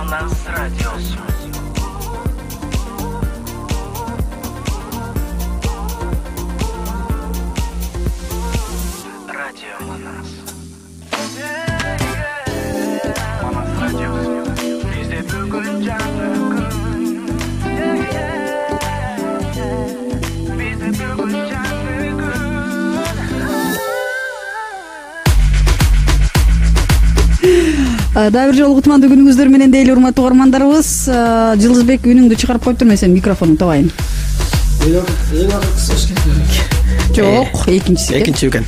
Манас радиосу. Радио Манас. Манас радиосу. Бизде бүгүн жаңы күн. Бизде бүгүн жаңы күн. Дагы бир жолу кутмандуу күнүңүздөр менен дейли, урматтуу угармандарыбыз. Жылдызбек, үнүңдү чыгарып коюптурмун, сен микрофонуңду табайын. Жок, экинчиси экен.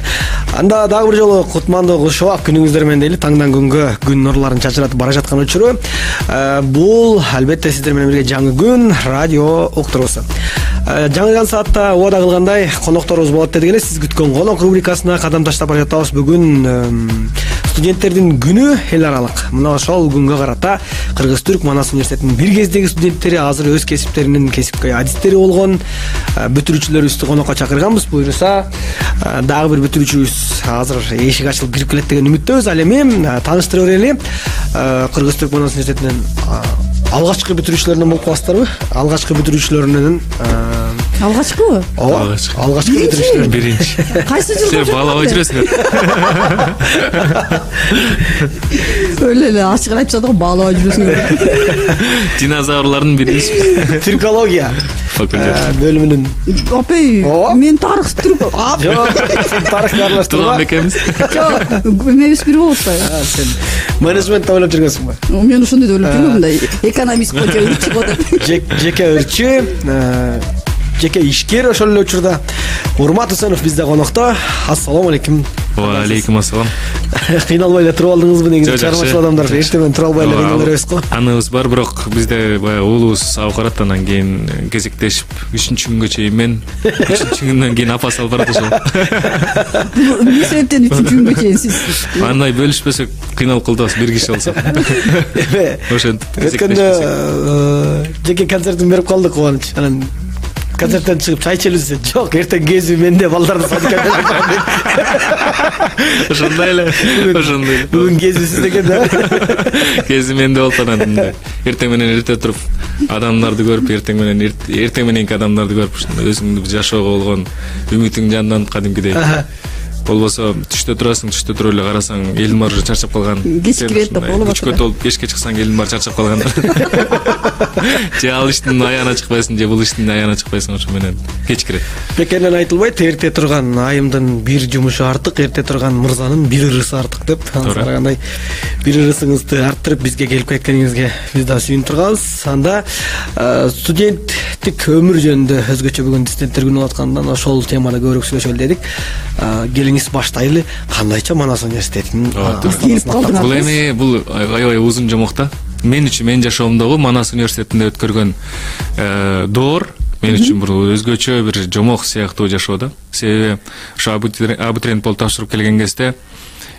Анда дагы бир жолу кутмандуу кушубак күнүңүздөр менен дейли, таңдан күнгө күн нурларын чачыратып бара жаткан учуру. Бул албетте сиздер менен бирге жаңы күн радио уктуруусу. Жаңылган саатта убада кылгандай конокторубуз болот деди эле. Сиз күткөн конок рубрикасына кадам таштап бара жатабыз. Бүгүн студенттердин күнү эл аралык. Мына ошол күнгө карата Кыргыз-Түрк Манас университетинин бир кездеги студенттери азыр өз кесиптеринин кесипкөй адистери болгон бүтүрүүчүлөрүбүздү конокко чакырганбыз. Буюрса дагы бир бүтүрүүчүбүз азыр эшик ачылып кирип келет деген үмүттөбүз. Ал эми тааныштыра берели. Кыргыз-Түрк Манас университетинин алгачкы бүтүрүүчүлөрүнөн болуп каласыздарбы? Алгачкы бүтүрүүчүлөрүнөн алгачкыбы? Алгачкы бүтүрүүчүлөр биринчи. Кайсы жылда? Сен баалабай жүрөсүңөр. Өлө эле ачык айтышат го, баалабай жүрөсүңөр. Динозаврлардын биринчи Түркология факультет бөлүмүнүн. Апей, мен тарых түрк. Жок, тарыхты аралаштырма. Тууган экенбиз. Жок, эмебиз бир болуп атпайбы? Сен менеджмент ойлоп жүргөнсүңбү? Мен ошондой деп ойлоп жүрмүн да. Экономист го деп ичип атат. Жеке өрчү, жеке ишкер ошол эле учурда. Урмат Усенов бизде конокто. Ассалому алейкум. Ва алейкум ассалам. Кыйналбай эле туруп алдыңызбы? Негизи чарбачыл адамдар эртең менен тура албай эле кыйнала беребиз го. Аныбыз бар, бирок бизде баягы уулубуз абыкарат, анан кийин кезектешип 3-күнгө чейин мен, 3-күндөн кийин апа салып барат ошол. Эмне себептен 3-күнгө чейин сиз? Андай бөлүшпөсөк кыйналып калдыбыз, бир киши болсок. Ошентип Өткөндө жеке концертин берип калдык, кубаныч. Анан концерттен чыгып чай ичелиз. Жок, эртең кези менде балдарды садыкка берип. Ошондой эле. Бүгүн кези сизде экен да. Кези менде болуп анан эртең менен эрте туруп адамдарды көрүп, эртең мененки адамдарды көрүп, өзүңдү жашоого болгон үмүтүң жанданып кадимкидей. Болбосо түштө турасың, түштө туруп эле карасаң элдин баары уже чарчап калган. Кеч кирет деп болуп атат. Кечке толуп кечке чыксаң элдин баары чарчап калган. Же ал иштин аяғына чыкпайсың, же бул иштин аяғына чыкпайсың, ошо менен кеч кирет. Бекеринен айтылбайт, эрте турган айымдын бир жумушу артык, эрте турган мырзанын бир ырысы артык деп. Карагандай бир ырысыңызды арттырып бизге келип кеткениңизге биз да сүйүнүп турганбыз. Анда студенттик өмүр жөнүндө өзгөчө бүгүн студенттер күнү болуп аткандан ошол темада көбүрөөк сүйлөшөлү дедик. Келиңиз баштайлы. Кандайча Манас университетинин келип калдыңыз? Бул эми бул аябай узун жомок да. Мен үчүн, менин жашоомдогу Манас университетинде өткөргөн доор мен үчүн бул өзгөчө бир жомок сыяктуу жашоо да. Себеби ошо абитуриент болуп тапшырып келген кезде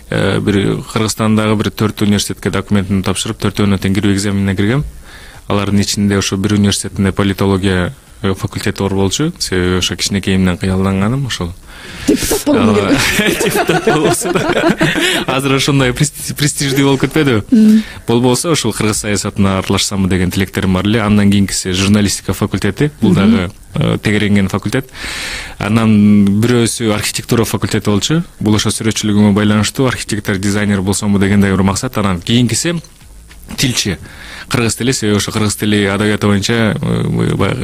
бир Кыргызстандагы бир 4 университетке документин тапшырып, 4-өөнө тең кирүү экзаменине киргем. Алардын ичинде ошо бир университетинде политология факультети бар болчу. Себеби ошо кичинекейимден кыялданганым ошол. Депутат болгон керек. Депутат болсо да. Азыр ошондой престиждүү болуп кетпедиби? Болбосо ошол кыргыз саясатына аралашсамбы деген тилектерим бар эле. Андан кийинкиси журналистика факультети. Бул дагы тегеренген факультет. Анан бирөөсү архитектура факультети болчу. Бул ошо сүрөтчүлүгүмө байланыштуу, архитектор, дизайнер болсомбу дегендей бир максат. Анан кийинкиси тилчи. Кыргыз тили, себеби ошо кыргыз тили адабияты боюнча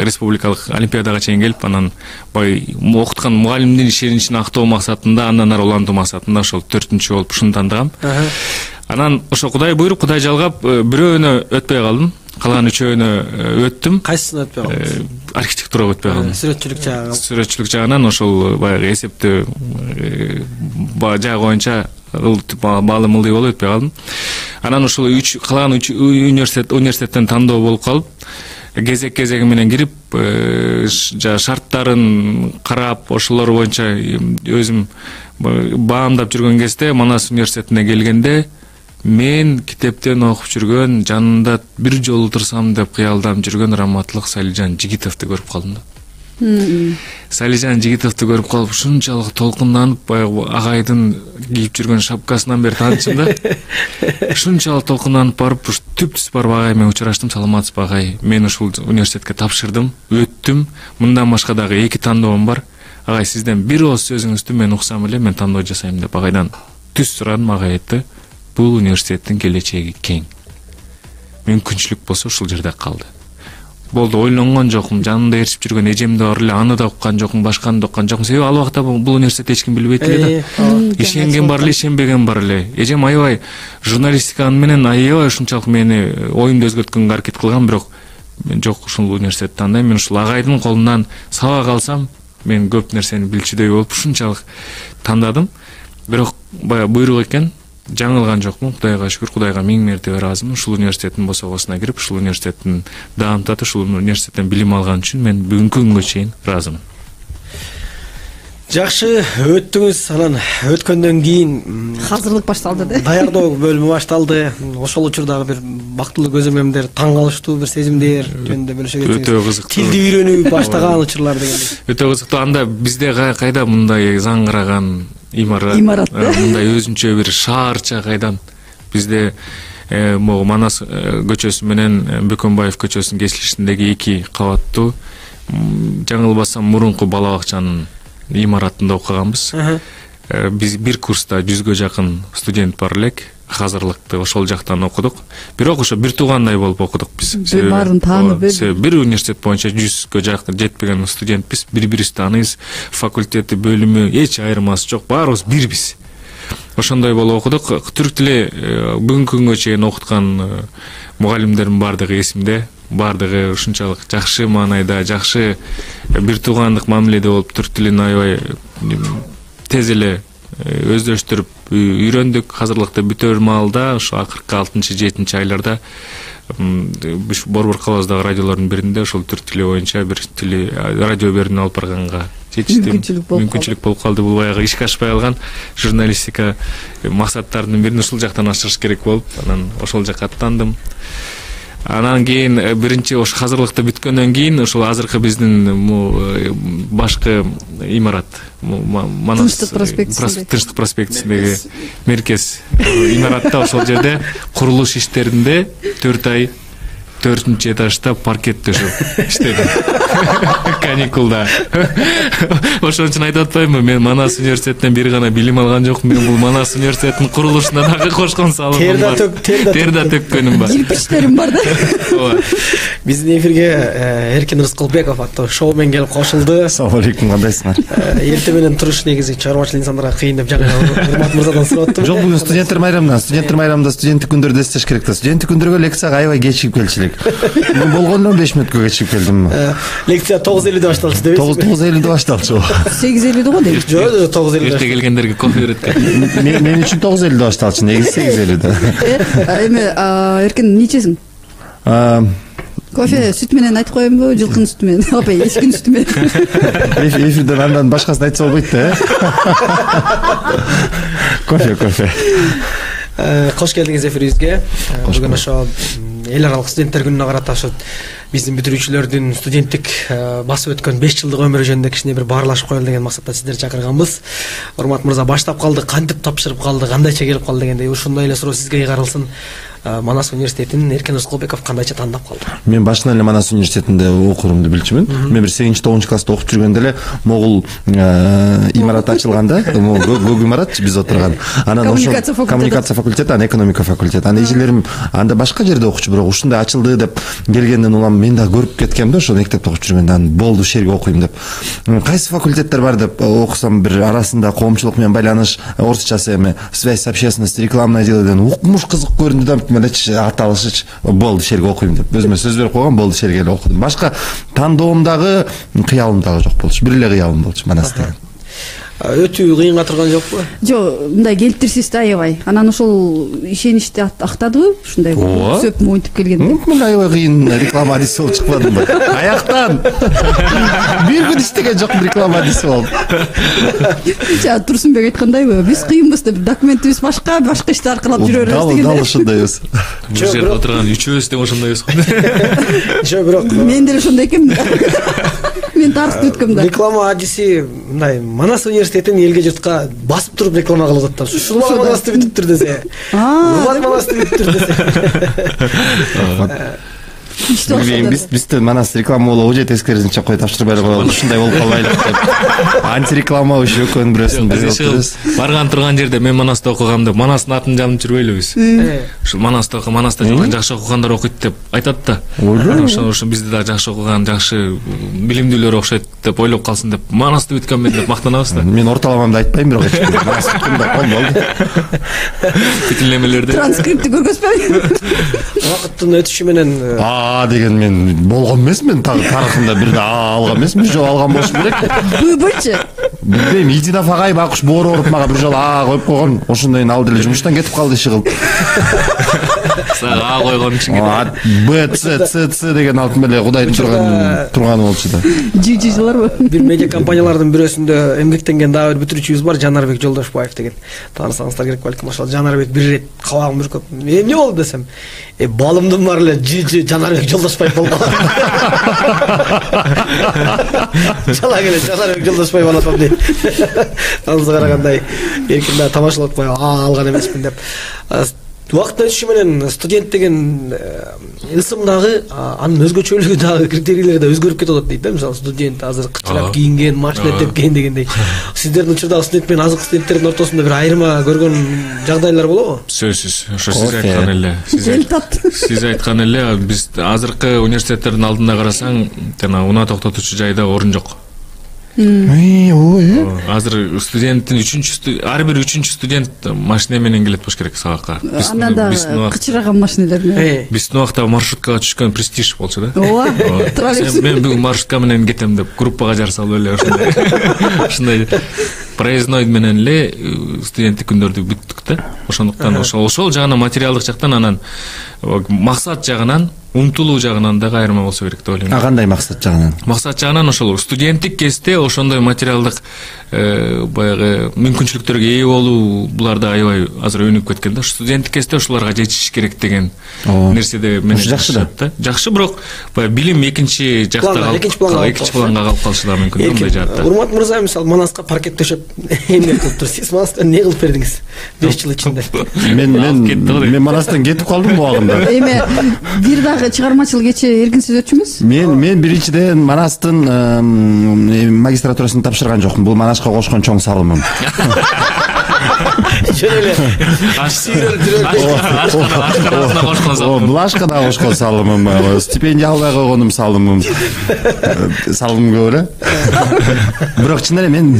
республикалык олимпиадага чейин келип, анан окуткан мугалимдин ишенимин актоо максатында, андан ары улантуу максатында ошол 4-чү болуп ушуну тандагам. Анан ошо Кудай буйруп, Кудай жалгап, бирөөнө өтпөй калдым. Калган 3-өөнө өттүм. Кайсысына өтпөй калдыңыз? Архитектурага өтпөй калдым. Сүрөтчүлүк жагынан ошол баягы эсептөө жагы боюнча баалым ылдый болуп өтпөй калдым. Анан ошол калган университеттен тандоо болуп калып, кезек менен кирип, шарттарын карап, ошолор боюнча өзүм баамдап жүргөн кезде Манас университетине келгенде мен китептен окуп жүргөн, жанында бир жолу турсам деп кыялдап жүргөн Раматлык Салижан Жигитовду көрүп калдым да. Салижан Жигитовду көрүп калып ушунчалык толкунданып, баягы агайдын кийип жүргөн шапкасынан бери таанычым да. Ушунчалык толкунданып барып, уш түп-түз барып агай менен учураштым. Саламатсызбы агай? Мен ушул университетке тапшырдым, өттүм. Мындан башка дагы 2 тандоом бар. Агай, сизден бир ооз сөзүңүздү мен уксам эле мен тандоо жасайм деп агайдан түз сурадым. Агай айтты, бул университеттин келечеги кең. Мүмкүнчүлүк болсо ушул жерде калды. Болду, ойлонгон жокмун, жанында ээрчип жүргөн эжем да бар эле, аны да уккан жокмун, башканы да уккан жокмун. Себеби ал убакта бул университетти эч ким билбейт эле да. Ишенген бар эле, ишенбеген бар эле. Эжем аябай журналистика менен аябай ушунчалык мени оюмду өзгөрткөнгө аракет кылган, бирок мен жок, ушул университетти тандайм. Мен ушул агайдын колунан сабак алсам, мен көп нерсени билчүдөй болуп ушунчалык тандадым. Бирок баягы буйрук экен. Жаңылган жокмун, Кудайга шүгүр, Кудайга миң мертебе ыраазымын. Ушул университеттин босогосуна кирип, ушул университеттин даамтатып, ушул университеттен билим алган үчүн мен бүгүнкү күнгө чейин ыраазымын. Жакшы өттүңүз, анан өткөндөн кийин Азырлык башталды да. Даярдоо бөлүмү башталды. Ошол учурдагы бир бактылуу көзөмөлдөр, таң калыштуу бир сезимдер жөнүндө бөлүшө кетсеңиз. Өтө кызыктуу. Тилди үйрөнүп баштаган учурлар дегендей. Өтө кызыктуу. Анда бизде кайда мындай заңгыраган имарат мындай өзүнчө бир шаарча кайдан. Бизде могу Манас көчөсү менен Бөкөнбаев көчөсүнүн кесилишиндеги 2 кабаттуу, жаңылбасам мурунку бала бакчанын имаратында окуганбыз. Биз бир курста 100гө жакын студент бар элек. Азырлыкты ошол жактан окудук. Бирок ошо бир туугандай болуп окудук биз. Баарын таанып бир университет боюнча 100гө жакын жетпеген студентпиз. Бири-бирибизди тааныйбыз. Факультети, бөлүмү эч айырмасы жок. Баарыбыз бирбиз. Ошондой болуп окудук. Түрк тили бүгүнкү күнгө чейин окуткан мугалимдердин баардыгы эсимде. Баардыгы ушунчалык жакшы маанайда, жакшы бир туугандык мамиледе болуп, түрк тилин аябай тез эле өздөштүрүп үйрөндүк. Азырлыкты бүтөр маалда, ошо акыркы 6-7 айларда Борбор калабыздагы радиолордун биринде ошол түрк тили боюнча бир тили радио берүүнү алып барганга жетиштим. Мүмкүнчүлүк болуп калды. Бул баягы ишке ашпай калган журналистика максаттарынын бирин ушул жактан ашырыш керек болуп, анан ошол жакка аттандым. Анан кийин биринчи ошо азырлыкты бүткөндөн кийин ошол азыркы биздин башкы имарат Манас Тынчтык проспектисиндеги меркез имаратта ошол жерде курулуш иштеринде 4 ай 4-чү этажда паркет төшөп иштедим. Каникулда. Ошон үчүн айтып атпаймынбы, мен Манас университетинен бир гана билим алган жокмун. Мен бул Манас университетинин курулушуна дагы кошкон салымым бар. Тер да төккөнүм бар. Кирпичтерим бар да. Биздин эфирге Эркин Рыскылбеков аттуу шоумен келип кошулду. Ассалам алейкум, кандайсыңар? Эртең менен туруш негизи чыгармачылык инсандарга кыйын деп жаңы Урмат мырзадан сурап аттым. Жок, бүгүн студенттер майрамында студенттик күндөрдү эстеш керек да. Студенттик күндөргө лекцияга аябай кечигип келчү. Мен болгондон 5 мүнөткө кечигип келдим. Лекция 9:50 башталчу депесизби? 9:50 башталчу. 8:50 го дейт. Жок, 9:50. Эрте келгендерге кофе берет. Мен үчүн 9:50 башталчу, негизи 8:50. Эми Эркин нечесиң? Кофе сүт менен айтып коембу, жылкынын сүтү менен, апа, эчкинин сүтү менен. Эфирден андан башкасын айтса болбойт да. Кофе. Кош келдиңиз эфирибизге. Бүгүн ошо эл аралык студенттер күнүнө карата ошо биздин бүтүрүүчүлөрдүн студенттик басып өткөн 5 жылдык өмүрү жөнүндө кичине бир баарлашып коелу деген максатта сиздерди чакырганбыз. Урмат мырза, баштап калды, кантип тапшырып калды, кандайча келип калды дегендей ушундай эле суроо сизге кайгарылсын. Манас университетин Эркин Рыскылбеков кандайча тандап калды? Мен башынан эле Манас университетинде окурумду билчүмүн. Мен бир 8-9 класста окуп жүргөндө эле могул имарат ачылганда, көк имарат биз отурган. Анан ошо коммуникация факультети, анан экономика факультети. Анан эжелерим анда башка жерде окучу, бирок ушундай ачылды деп келгенден улам мен да көрүп кеткем да, ошо мектепте окуп жүргөндө. Анан болду, ушул жерге окуйм деп. Кайсы факультеттер бар деп окусам, бир арасында коомчулук менен байланыш, орусчасы эми связь с общественностью, рекламное дело деген укмуш кызык көрүндү да. Мелечи аталышыч болду, ушул жерге окуйм деп. Өзүмө сөз берип койгон, болду, ушул жерге окудум. Башка тандоомдагы, кыялым дагы жок болчу. Бир эле кыялым болчу Манас деген. Өтүү кыйынга турган жокпу? Жок, мындай келиптирсиз да аябай. Анан ошол ишеничти актадыбы? Ушундай сөп моинтип келгенде. Мен аябай кыйын реклама адиси болуп чыкпадымбы? Аяктан. Бир күн иштеген жокмун реклама адиси болуп. Турсунбек айткандайбы? Биз кыйынбыз деп, документибиз башка ишти аркылап жүрө беребиз деген. Дал ошондойбуз. Бул жерде отурган үчөөбүз тең ошондойбуз го. Жок, бирок мен деле ошондой экенмин. Мен тартып өткөм да. Реклама адиси мындай Манас университетин элге журтка басып туруп реклама кылып атат. Ушул Манасты бүтүптүр десе. Урмат Манасты бүтүптүр десе. Бизден Манас реклама болобу же тескерисинче чакпай тапшырбай коелу, ушундай болуп калбайлы деп. Антиреклама ушул экөөнүн бирөөсүн биз барган турган жерде мен Манаста окугам деп Манастын атын жалынып жүрбөйлүбүз. Ушул Манаста жакшы окугандар окуйт деп айтат да. Ошо бизде да жакшы окуган, жакшы билимдүүлөр окшойт деп ойлоп калсын деп Манасты бүткөнмүн деп мактанабыз да. Мен орталамамды айтпайм, бирок Манас бүткөндө болду. Бүтүнлемелерде Транскрипти көргөзбөйм. Убакыттын өтүшү менен деген мен болгон эмесмин, тарыхында бирде алган эмесмин, бир жолу алган болуш керек. Бычы. Билбейм, Идина Фагай Бакуш боору ооруп мага бир жолу коюп койгон. Ошондон ал деле жумуштан кетип калды иши кылып. Сага койгон үчүн Б, Ц деген алтын эле Кудайдын турганы болчу да. Жыларбы? бир медиа компаниялардын бирөөсүндө эмгектенген дагы бир бүтүрүүчүбүз бар, Жанарбек Жолдошбаев деген. Таанысаңыздар керек балким. Ошол Жанарбек бир ирет кабагым бүркөп, эмне болду десем, балымдын бар эле Жанарбек Жолдошбаев болгон. Чала келе Жанарбек Жолдошбаев алатам дейт. Анысы карагандай эркин да тамашалап коюп алган эмесмин деп. Убакыттын өтүшү менен студент деген ысымдагы анын өзгөчөлүгү дагы критерийлери да өзгөрүп кетип атат дейт да. Мисалы студент азыр кычырап кийинген, машина тепкен дегендей. Сиздердин учурдагы студент менен азыркы студенттердин ортосунда бир айырма көргөн жагдайлар болобу? Сөзсүз. Ошо сиз айткан эле. Сиз айткан эле, биз азыркы университеттердин алдына карасаң, жана унаа токтотуучу жайда орун жок. Азыр студенттин ар бир үчүнчү студент машина менен келет болуш керек сабакка. Андан да кычыраган машиналар менен. Биздин убакта маршруткага түшкөн престиж болчу да. Ооба. Троллейбус. Мен бүгүн маршрутка менен кетем деп группага жар салып эле ошондой проездной менен эле студенттик күндөрдү бүттүк да. Ошондуктан ошол жагынан материалдык жактан анан максат жагынан, умтулуу жагынан дагы айырма болсо керек деп ойлойм. Кандай максат жагынан? Максат жагынан ошол студенттик кезде ошондой материалдык баягы мүмкүнчүлүктөргө ээ болуу буларда аябай азыр өнүгүп кеткен да. Студенттик кезде ошолорго жетиш керек деген нерседе мен жакшы да. Жакшы, бирок баягы билим экинчи жакта экинчи планга калып калышы да мүмкүн мындай жаатта. Урмат мырза, мисалы Манаска паркет төшөп эмгек кылып туруп, сиз Манастан эмне кылып бердиңиз 5 жыл ичинде? Мен Манастан кетип калдым бул убагында. Эми бир дагы чыгармачыл кече эркинсиз өтчүмүз? Мен биринчиден Манастын магистратурасын тапшырган жокмун. Бул Манашка кошкон чоң салымым. Жөн эле. Блашкада кошкон салымым, стипендия албай койгонум салымым. Салымым көп эле. Бирок чын эле мен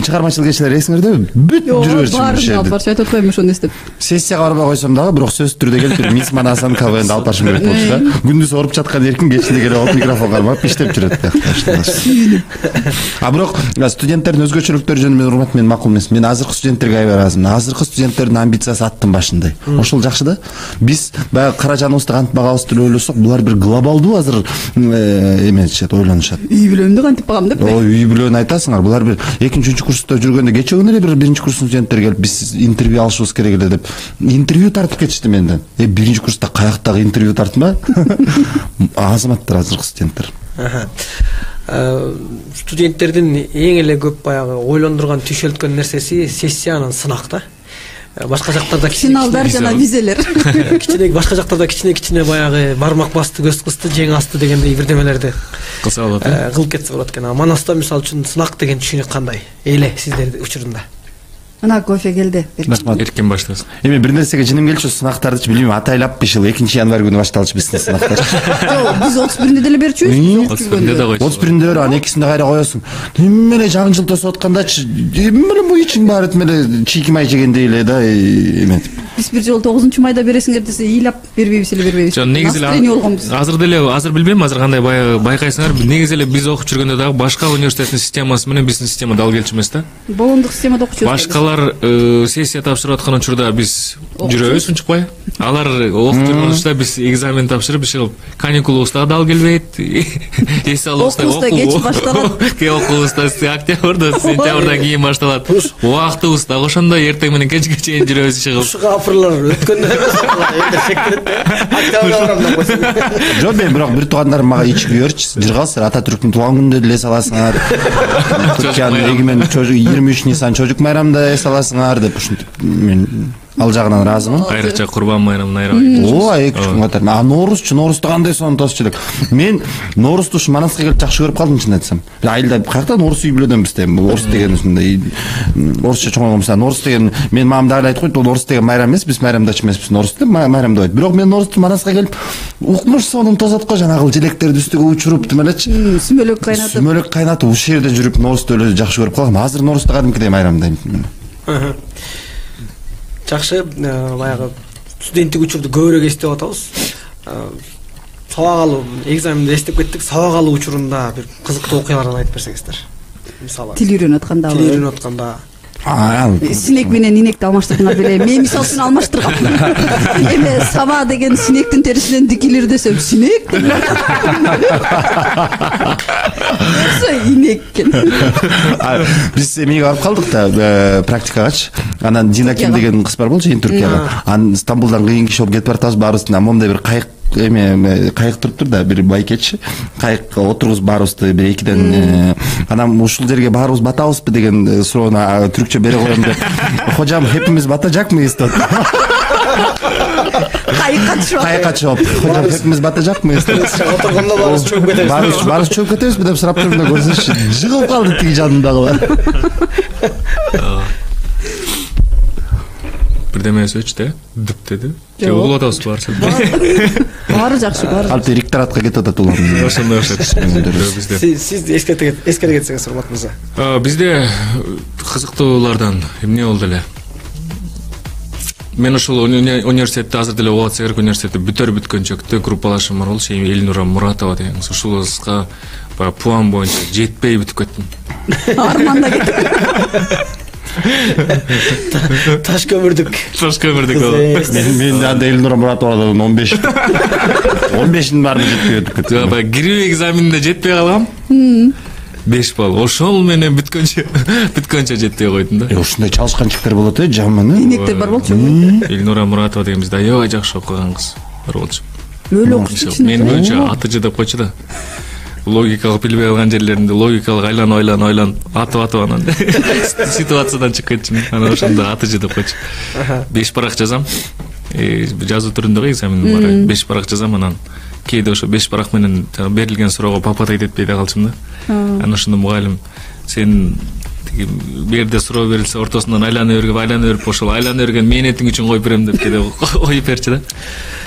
чыгармачыл кечелер эсиңердеби? Бүт жүрүп жүрчүмүн. Барча айтып атпаймынбы ошону эстеп. Сессияга барбай койсом дагы, бирок сөзсүз түрдө келип Мисс Манасан КВНди алып барышым керек болчу да. Күндүз ооруп жаткан эркин кечинде келип алып микрофон кармап иштеп жүрөт тияктаа. Бирок студенттердин өзгөчөлүктөрү жөнүндө урмат мен макул эмес. Мен азыркы студенттерге аябай ыраазымын. Азыркы студенттердин амбициясы аттын башындай. Ошол жакшы да. Биз баягы каражаныбызды кантип багабыз деп ойлосок, булар бир глобалдуу азыр эметишет, ойлонушат. Үй бүлөмдү кантип багам деп. Үй бүлөнү айтасыңар. Булар бир 2-3 курста жүргөндө кече күнү эле бир 1-чи курстун студенттери келип, биз интервью алышыбыз керек эле деп интервью тартып кетишти менден. 1-чи курста каяктагы интервью тартма? Азаматтар азыркы студенттер. Студенттердин эң эле көп баягы ойлондурган түйшөлткөн нерсеси сессиянын сынак да. Башка жактарда финалдар жана визелер. Башка жактарда кичине баягы бармак басты, көз кысты, жең асты дегендей бирдемелерди кылса болот. Кылып кетсе болот экен. Манаста мисалы үчүн сынак деген түшүнүк кандай? Эле сиздердин учурунда. Мына кофе келди. Эркин баштасын. Эми бир нерсеге жиним келчү, сынактарды билбейм, атайлап бишыл 2-январь күнү башталчу биздин сынактар. Жок, биз 31-нде деле берчүбүз. 31-нде да койчу. 31-нде бер, анан экисинде кайра коесуң. Эмеле жаңы жыл тосуп аткандачы, эмеле бу ичиң баары эмеле чийки май жегендей эле да эметип. Биз бир жолу 9-майда бересиңер десе, ыйлап бербейбиз эле бербейбиз. Жок, негизи эле азыр деле билбейм, азыр кандай байкайсыңар, негизи эле биз окуп жүргөндө дагы башка университеттин системасы менен биздин система дал келчү эмес да. Болондук системада окучубуз. алар сессия тапшырып аткан учурда биз жүрөбүз унчукпай. Алар окуп жүргөн учурда биз экзамен тапшырып иши каникулубузда дал келбейт. Эс алыбызда кеч башталат. Окуубузда октябрда, сентябрдан кийин башталат. Убактыбыз дагы ошондой эртең менен кечке чейин жүрөбүз иши кылып. Ушуга апырлар өткөндө эмес шектелет да. Октябрда барам деп койсун. Жок, мен бирок бир туугандарым мага ичип үйөрчү. Жыргалсыздар, Ататүрктүн туулган күнүндө деле эс аласыңар. Түркиянын эгемен 23 Нисан чожук майрамында эс аласыңар деп ушинтип мен ал жагынан ыраазымын. Айрыкча Курбан майрамын айрабайт. Ооба, 2 күн катар. Ноорузду кандай сонтосчу элек. Мен Ноорузду ушу Манасқа келип жакшы көрүп калдым, чын айтсам. Айылда каякта Ноорус үй билүүдөн бизде. Орус деген ушундай орусча чоңойгонса, Ноорус деген мен мамам дагы айт койт, Ноорус деген майрам эмес, биз майрамдачы эмеспиз, Ноорус деп майрам деп айт. Бирок мен Ноорузду Манасқа келип укмуш сонун тосот го, жанагы желектерди үстүгө учуруп демелечи. Сүмөлөк кайнатып ушул жерде жүрүп Ноорузду эле жакшы көрүп калгам. Азыр Ноорузду кадимкидей майрамдайм. Жакшы, баягы студенттик учурду көбүрөөк эстеп атабыз. Сабак алуу, экзаменди эстеп кеттик. Сабак алуу учурунда бир кызыктуу окуялардан айтып берсеңиздер. Мисалы. Тил үйрөнүп атканда. Синек менен инекти алмаштырдыңар беле. Мен мисалы үчүн алмаштыргам. Эме саба деген синектин терисинен дикилир десем, синек. Инек экен. Биз эмеге барып калдык да, практикагачы. Анан Дина Ким деген кыз бар болчу, Туркияга. Анан Стамбулдан кыйын киши болуп кетип баратабыз, баарыбыз момундай бир кайык кайык туруптур да, бир байкетчи. Кайыкка отургузуп баарыбызды бир 2ден анан ушул жерге баарыбыз батабызбы деген суроону түркчө бере коем деп. Хожам, hepimiz batacakmıyız деп. Кайыкка чыгып, хожам, hepimiz batacakmıyız деп. Отургондо баарыбыз чөгүп кетебиз. Баарыбыз чөгүп кетебизби деп сурап турганда көрсөңүзчү, жыгылып калды тиги жанындагылар. Бирдеме сөчтү, дүп деди. Же угулуп атабыз баарча. Баары жакшы, баары. Алты ректоратка кетип атат улар. Ошондой окшойт. Сиз эскерте кетсеңиз урмат мырза. Бизде кызыктуулардан эмне болду эле? Мен ошол университетте азыр деле окуп атсак керек, университетте бүткөнчөктө группалашым бар болчу, Элнура Муратова деген. Ушулузга баягы план боюнча жетпей бүтүп кеттим. Арманда кетип. Таш көмүрдүк. Мен анда Элнура Муратовадан 15-ин баарын жетпей өтүп кеттим. Баягы кирүү экзаменинде жетпей калгам. 5 балл. Ошол менен бүткөнчө жетпей койдум да. Ушундай чалышкан чиктер болот жаман. Инектер бар болчу. Элнура Муратова деген бизде аябай жакшы окуган кыз бар болчу. Өлө окуучу. Мен боюнча АТЖ деп койчу да. Логикалык билбей калган жерлеринде логикалык ойланып атып анан ситуациядан чыгып кетчүмүн. Анан ошондо АТЖ деп койчу. 5 парак жазам. Жазуу түрүндөгү экзаменим бар. 5 парак жазам, анан кээде ошо 5 парак менен берилген суроого папатайт этпей да калчумун да. Анан ошондо мугалим, сен бу жерде суроо берилсе ортосунан айлана берип ошол айлана берген мээнетиң үчүн коюп берем деп кээде коюп берчү да.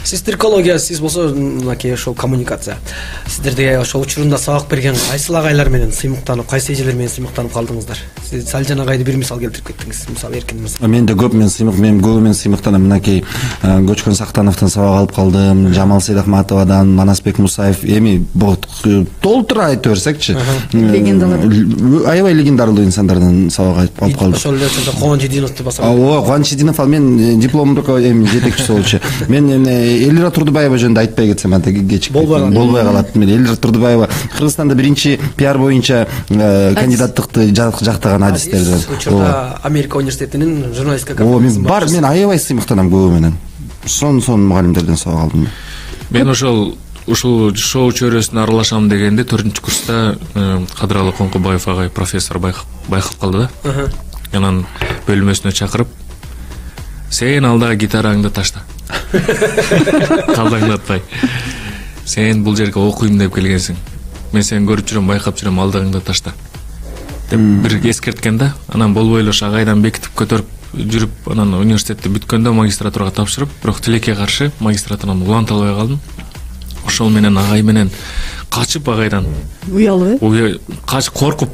Сиз тиркология, сиз болсо мынакей ошол коммуникация. Сиздерде ошол учурунда сабак берген кайсыл агайлар менен сыймыктанып, кайсы эжелер менен сыймыктанып калдыңыздар? Сиз Салжан агайды бир мисал келтирип кеттиңиз. Мисалы Эркин мырза. Мен де көп мен көбү менен сыймыктанам. Мынакей Көчкөн Сактановдон сабак алып калдым, Жамал Сейдахматовадан, Манасбек Мусаев, эми толтура айтып берсекчи. Легендалар. Аябай легендарлуу инсандардан сабак алып калдым. Ошол эле Кубанчидиновду баса. Кубанчидинов мен дипломдук жетекчиси болчу. Мен Элира Турдубаева жөнүндө айтпай кетсем, анда кечикпейт. Болбой калат. Мен Элира Турдубаева Кыргызстанда биринчи пиар боюнча кандидаттыкты жактаган адистерден. Учурда Америка университетинин журналистика кафедрасы бар. Мен аябай сыймыктанам көбү менен. Сон мугалимдерден сабак алдым. Мен ушул шоу чөйрөсүнө аралашам дегенде 4-курста Кадыралы Коңкубаев агай профессор байкап калды да. Анан бөлмөсүнө чакырып, сен алдагы гитараңды ташта. Калдаңдатпай. Сен бул жерге окуйм деп келгенсиң. Мен сени көрүп жүрөм, байкап жүрөм, алдагыңды ташта. Деп бир эскерткен да. Анан болбой эле ошо агайдан бекитип көтөрүп жүрүп, анан университетти бүткөндө магистратурага тапшырып, бирок тилекке каршы магистратурадан уланта албай калдым. Ошол менен агай менен качып агайдан. Уялып, коркуп.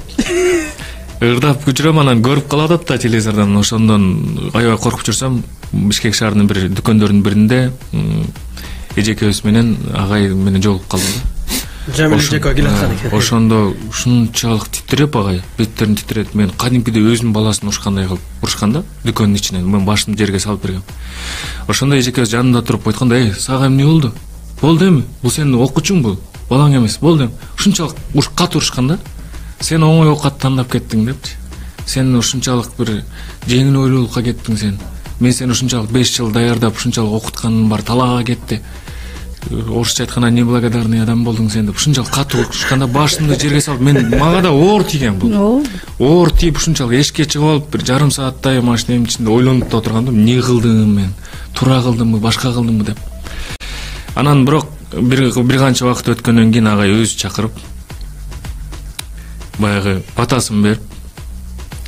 Ырдап жүрөм, анан көрүп калат да телевизордон. Ошондон аябай коркуп жүрсөм, Бишкек шаарынын бир дүкөндөрүнүн биринде эжекебиз менен агай менен жолугуп калдым да. Жамил Жека келаткан экен. Ошондо ушунчалык титиреп агай, беттерин титирет. Мен кадимкиде өзүнүн баласын урушкандай кылып урушканда, дүкөндүн ичинен мен башымды жерге салып бергем. Ошондо эжеке жанында туруп айтканда, сага эмне болду? Болду эми? Бул сенин окуучуң бул, балаң эмес. Болду эми. Ушунчалык катуу урушканда, сен оңой оокат тандап кеттиң депчи. Сен ушунчалык бир жеңил ойлуулукка кеттиң сен. Мен сени ушунчалык 5 жыл даярдап, ушунчалык окутканым бар, талаага кетти. Орусча айтканда неблагодарный адам болдуң сен деп ушунчалык катуу урушканда башымды жерге салып, мага да оор тийген бул. Оор тийип ушунчалык эшикке чыгып алып бир жарым сааттай машинанын ичинде ойлонуп да отургандым, эмне кылдым мен? Туура кылдымбы, башка кылдымбы деп. Анан бирок бир канча убакыт өткөндөн кийин агай өзү чакырып баягы батасын берип,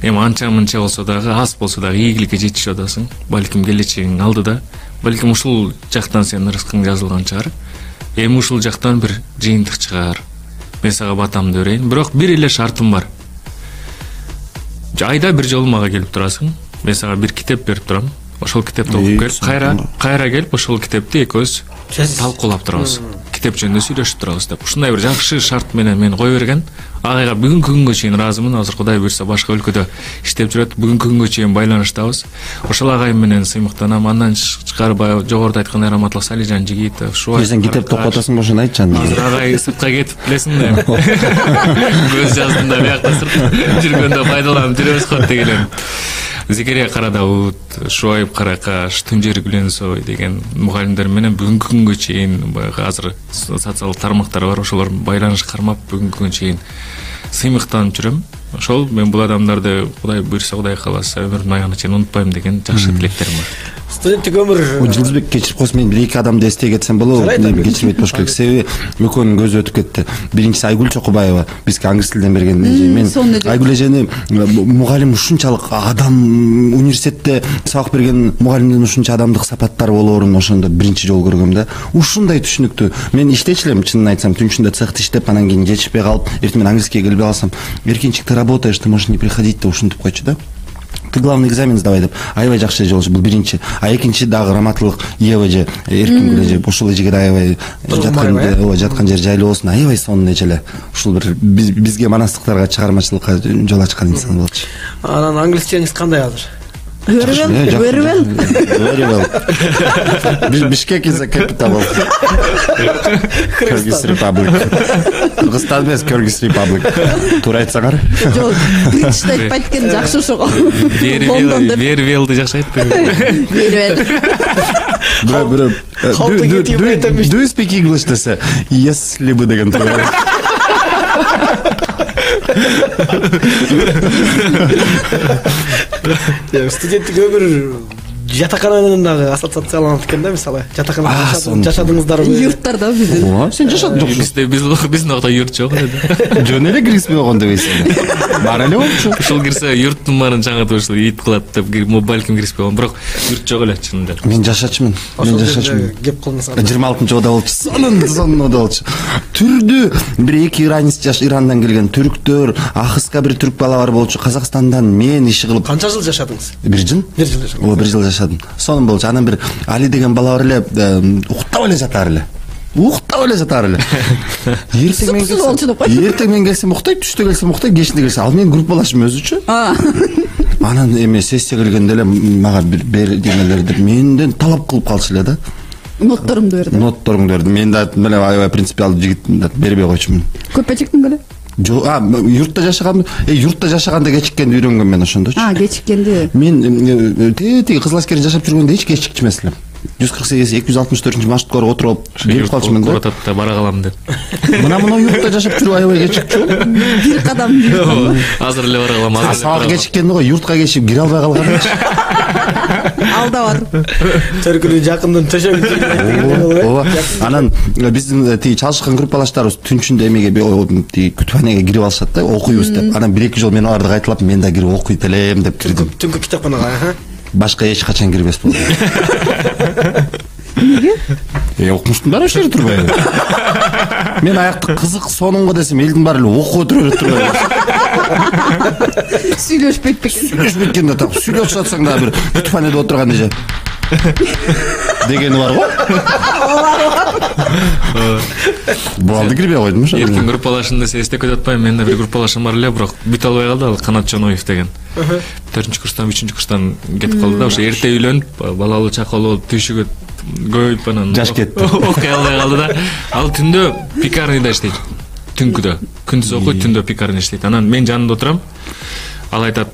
эми анча-мынча болсо дагы, аз болсо дагы ийгиликке жетишип атасың. Балким келечегиң алдыда. Балким ушул жактан сенин рызкың жазылган чыгар. Эми ушул жактан бир жыйынтык чыгар. Мен сага батамды берейин. Бирок бир эле шартым бар. Айда бир жолу мага келип турасың. Мен сага бир китеп берип турам. Ошол китепти окуп келип, кайра келип ошол китепти экөөбүз талкуулап турабыз. Китеп жөнүндө сүйлөшүп турабыз деп. Ушундай бир жакшы шарт менен мени кое берген. Агайга бүгүнкү күнгө чейин ыраазымын. Азыр Кудай буйрса башка өлкөдө иштеп жүрөт. Бүгүнкү күнгө чейин байланыштабыз. Ошол агай менен сыймыктанам. Андан тышкары баягы жогоруда айткан Раматлык Салижан Жигитов, Шубай. Сен китепти окуп атасың ошону айтчы анда. Азыр агай сыртка кетип билесиң да. Көз жаздымда биякта сырт жүргөндө пайдаланып жүрөбүз го дегелем. Зекерия Карадауут, Шуайб Каракаш, Тунжер Гүленсой деген мугалимдер менен бүгүнкү күнгө чейин баягы азыр социалдык тармактар бар, ошолор байланыш кармап бүгүнкү күнгө чейин сыймыктанып жүрөм. Ошол мен бул адамдарды Кудай буйрса, Кудай кааласа өмүрүмдүн аягына чейин унутпайм деген жакшы тилектерим бар. Студенттик өмүр. Жылдызбек кечирип койсун, мен бир эки адамды эстей кетсем болобу? Кечирбейт болуш керек. Себеби экөөнүн көзү өтүп кетти. Биринчиси Айгүл Чокубаева, бизге англис тилден берген. Мен Айгүл эжени мугалим ушунчалык адам, университетте сабак берген мугалимдин ушунча адамдык сапаттары болоорун ошондо биринчи жолу көргөм да. Ушундай түшүнүктүү. Мен иштечү элем, чынын айтсам, түн ичинде цехте иштеп, анан кийин жетишпей калып, эртең менен английскийге келбей калсам, Эркинчик, ты работаешь, ты можешь не приходить деп ушинтип койчу да. Ты главный экзамен сдавай деп. Аябай жакшы эже болчу, бул биринчи. А экинчи дагы Раматлык Ева эже, Эркин эже, ошол эжеге аябай жаткан жери жайлуу болсун. Аябай сонун эже эле. Ушул бир бизге манастыктарга чыгармачылыкка жол ачкан инсан болчу. Анан англисчеңиз кандай азыр? Very well. Бишкек is a capital of Kyrgyz Republic. Кыргызстан эмес, Kyrgyz Republic. Туура айтсаңар. Жок, биринчи айтпайт экен, жакшы ошого. Very well-ды жакшы айтты. Do you speak English десе, если бы деген туура. Студенттик өмүр жатакананын дагы ассоциацияланат экен да, мисалы. Жатаканада жашадыңыздарбы? Юрттарда биздин. Сен жашадың жоксуң. Биздин акта юрт жок эле. Жөн эле киргизбей койгон дебейсиң. Бар эле болчу. Ушул кирсе юрттун баарын чаңытып ушул ит кылат деп балким киришпей койгон, бирок юрт жок эле чынында. Мен жашачумун. Кеп кылыңыз. 26-жылда болчу. Сонун болчу. Түрдүү бир эки иранец Ирандан келген түрктөр, Ахыска бир түрк бала бар болчу, Казакстандан мен иши кылып. Канча жыл жашадыңыз? 1 жыл. 1 жыл жашадым. О, 1 жыл жашадым. Сонун болчу. Анан бир Али деген бала бар эле, уктап эле жатар эле. Эртең мен келсем уктайт, түштө келсем уктайт, кечинде келсе. Ал менин группалашым өзүчү. Анан эме сессия келгенде эле мага бер демелер деп менден талап кылып калчу эле да. Нотторумду берди. Мен да аябай принципиалдуу жигит бербей койчумун. Көп чектиң беле? Жок, юртта жашаганмын. Юртта жашаганда кечиккенди үйрөнгөм мен ошондочу. Кечиккенди. Мен тиги Кызыл Аскерде жашап жүргөндө эч кечикчимес элем. 148-264 маршруткага отуруп келип калчумун да. Коротатта бара калам деп. Мына юртта жашап жүрүп аябай кечикчү. Бир кадам. Азыр эле бара калам. Сабак кечиккенди го, юртка кечип кире албай калган. Алда бар. Төркүнү жакындан төшөп. Ооба. Анан биздин тиги чалышкан группалаштарыбыз түнчүндө эмеге тиги күтүпханага кирип алышат да, окуйбуз деп. Анан 1-2 жол мен аларды кайталап, мен да кирип окуйт элем деп кирдим. Түнкү китапканага, Башка эч качан кирбес болдум. Эмнеге? Окумуштун баары ошол жерде турбайбы? Мен аякты кызык сонунго десем, элдин баары эле окуп отура турбайбы? Сүйлөшпөйт бекен. Сүйлөшпөйт экен да, так сүйлөшүп жатсаң да бир күтүпханада отурган эже. Дегени бар го. Буалды кирбей койдум ошо. Эркин группалашында эстеп кетип атпайм. Менде бир группалашым бар эле, бирок бүт албай калды. Ал Канат Жоноев деген. 4-курстан 3-курстан кетип калды да. Ошо эрте үйлөнүп, балалуу чакалуу түйшүгө көйүп анан Жаш кетти. Окуй албай калды да. Ал түндө пекарныйда иштейт. Түнкүдө. Күндүз окуйт, түндө пекарня иштейт. Анан мен жанында отурам. Ал айтат,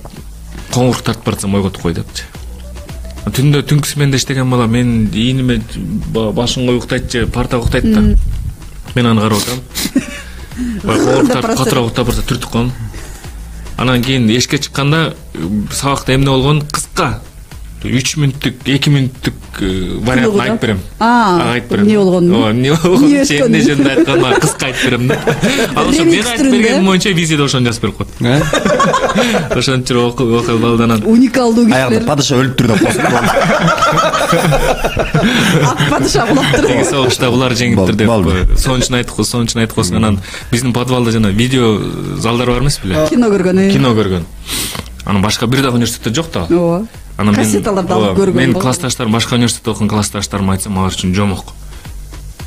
коңур тартып барсам ойготуп кой депчи. Түндө түнкү сменде иштеген бала мен ийниме башыңга уктайтчы, партага уктайт да. Мен аны карап отам. Коңур тартып катыраак уктап барса түртүп коем. Анан кийин эшикке чыкканда сабакта эмне болгон кыска 3 мүнөттүк, 2 мүнөттүк вариантын айтып берем. Айтып берем. Эмне болгонун? Эмне болгонун эмне жөнүндө айтканын кыска айтып берем да. Ал ошо мен айтып бергеним боюнча визиде ошону жазып берип коет. Ошентип окуй балданан. Уникалдуу кишилер. Аягында падыша өлүптүр деп косуп калды. Ак падыша кулаптыр. Теги согушта булар жеңиптир деп сончун айтып койсун. Анан биздин подвалда жана видео залдар бар эмес беле? Кино көргөн. Кино көргөн. Анан башка бир дагы университетте жок да. Ооба. Анан кассеталарды алып көргөн. Мен классташтарым, башка университетте окуган классташтарыма айтсам, алар үчүн жомок.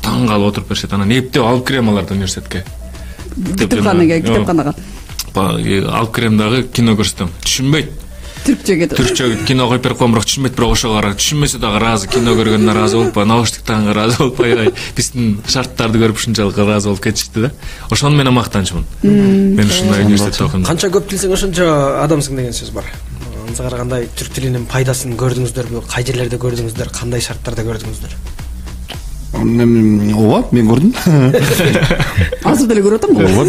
Таң калып отуруп беришет. Анан эптеп алып кирем аларды университетке. Китепканага. Алып кирем дагы кино көрсөтөм. Түшүнбөйт. Түркчө кино коюп берип коем, бирок түшүнбөйт, бирок ошого карап түшүнмөсө дагы разы, кино көргөнүнө разы болуп, наушник тагынга разы болуп, биздин шарттарды көрүп ушунчалык разы болуп кетишти да. Ошону менен мактанчумун. Мен ушундай университетте окудум. Канча көп билсең ошончо адамсың деген сөз бар. Аңсыга карагандай түрк тилинин пайдасын көрдүңүздөрбү? Кай жерлерде көрдүңүздөр? Кандай шарттарда көрдүңүздөр? Ооба, мен көрдүм. Азыр деле көрүп атам го. Ооба,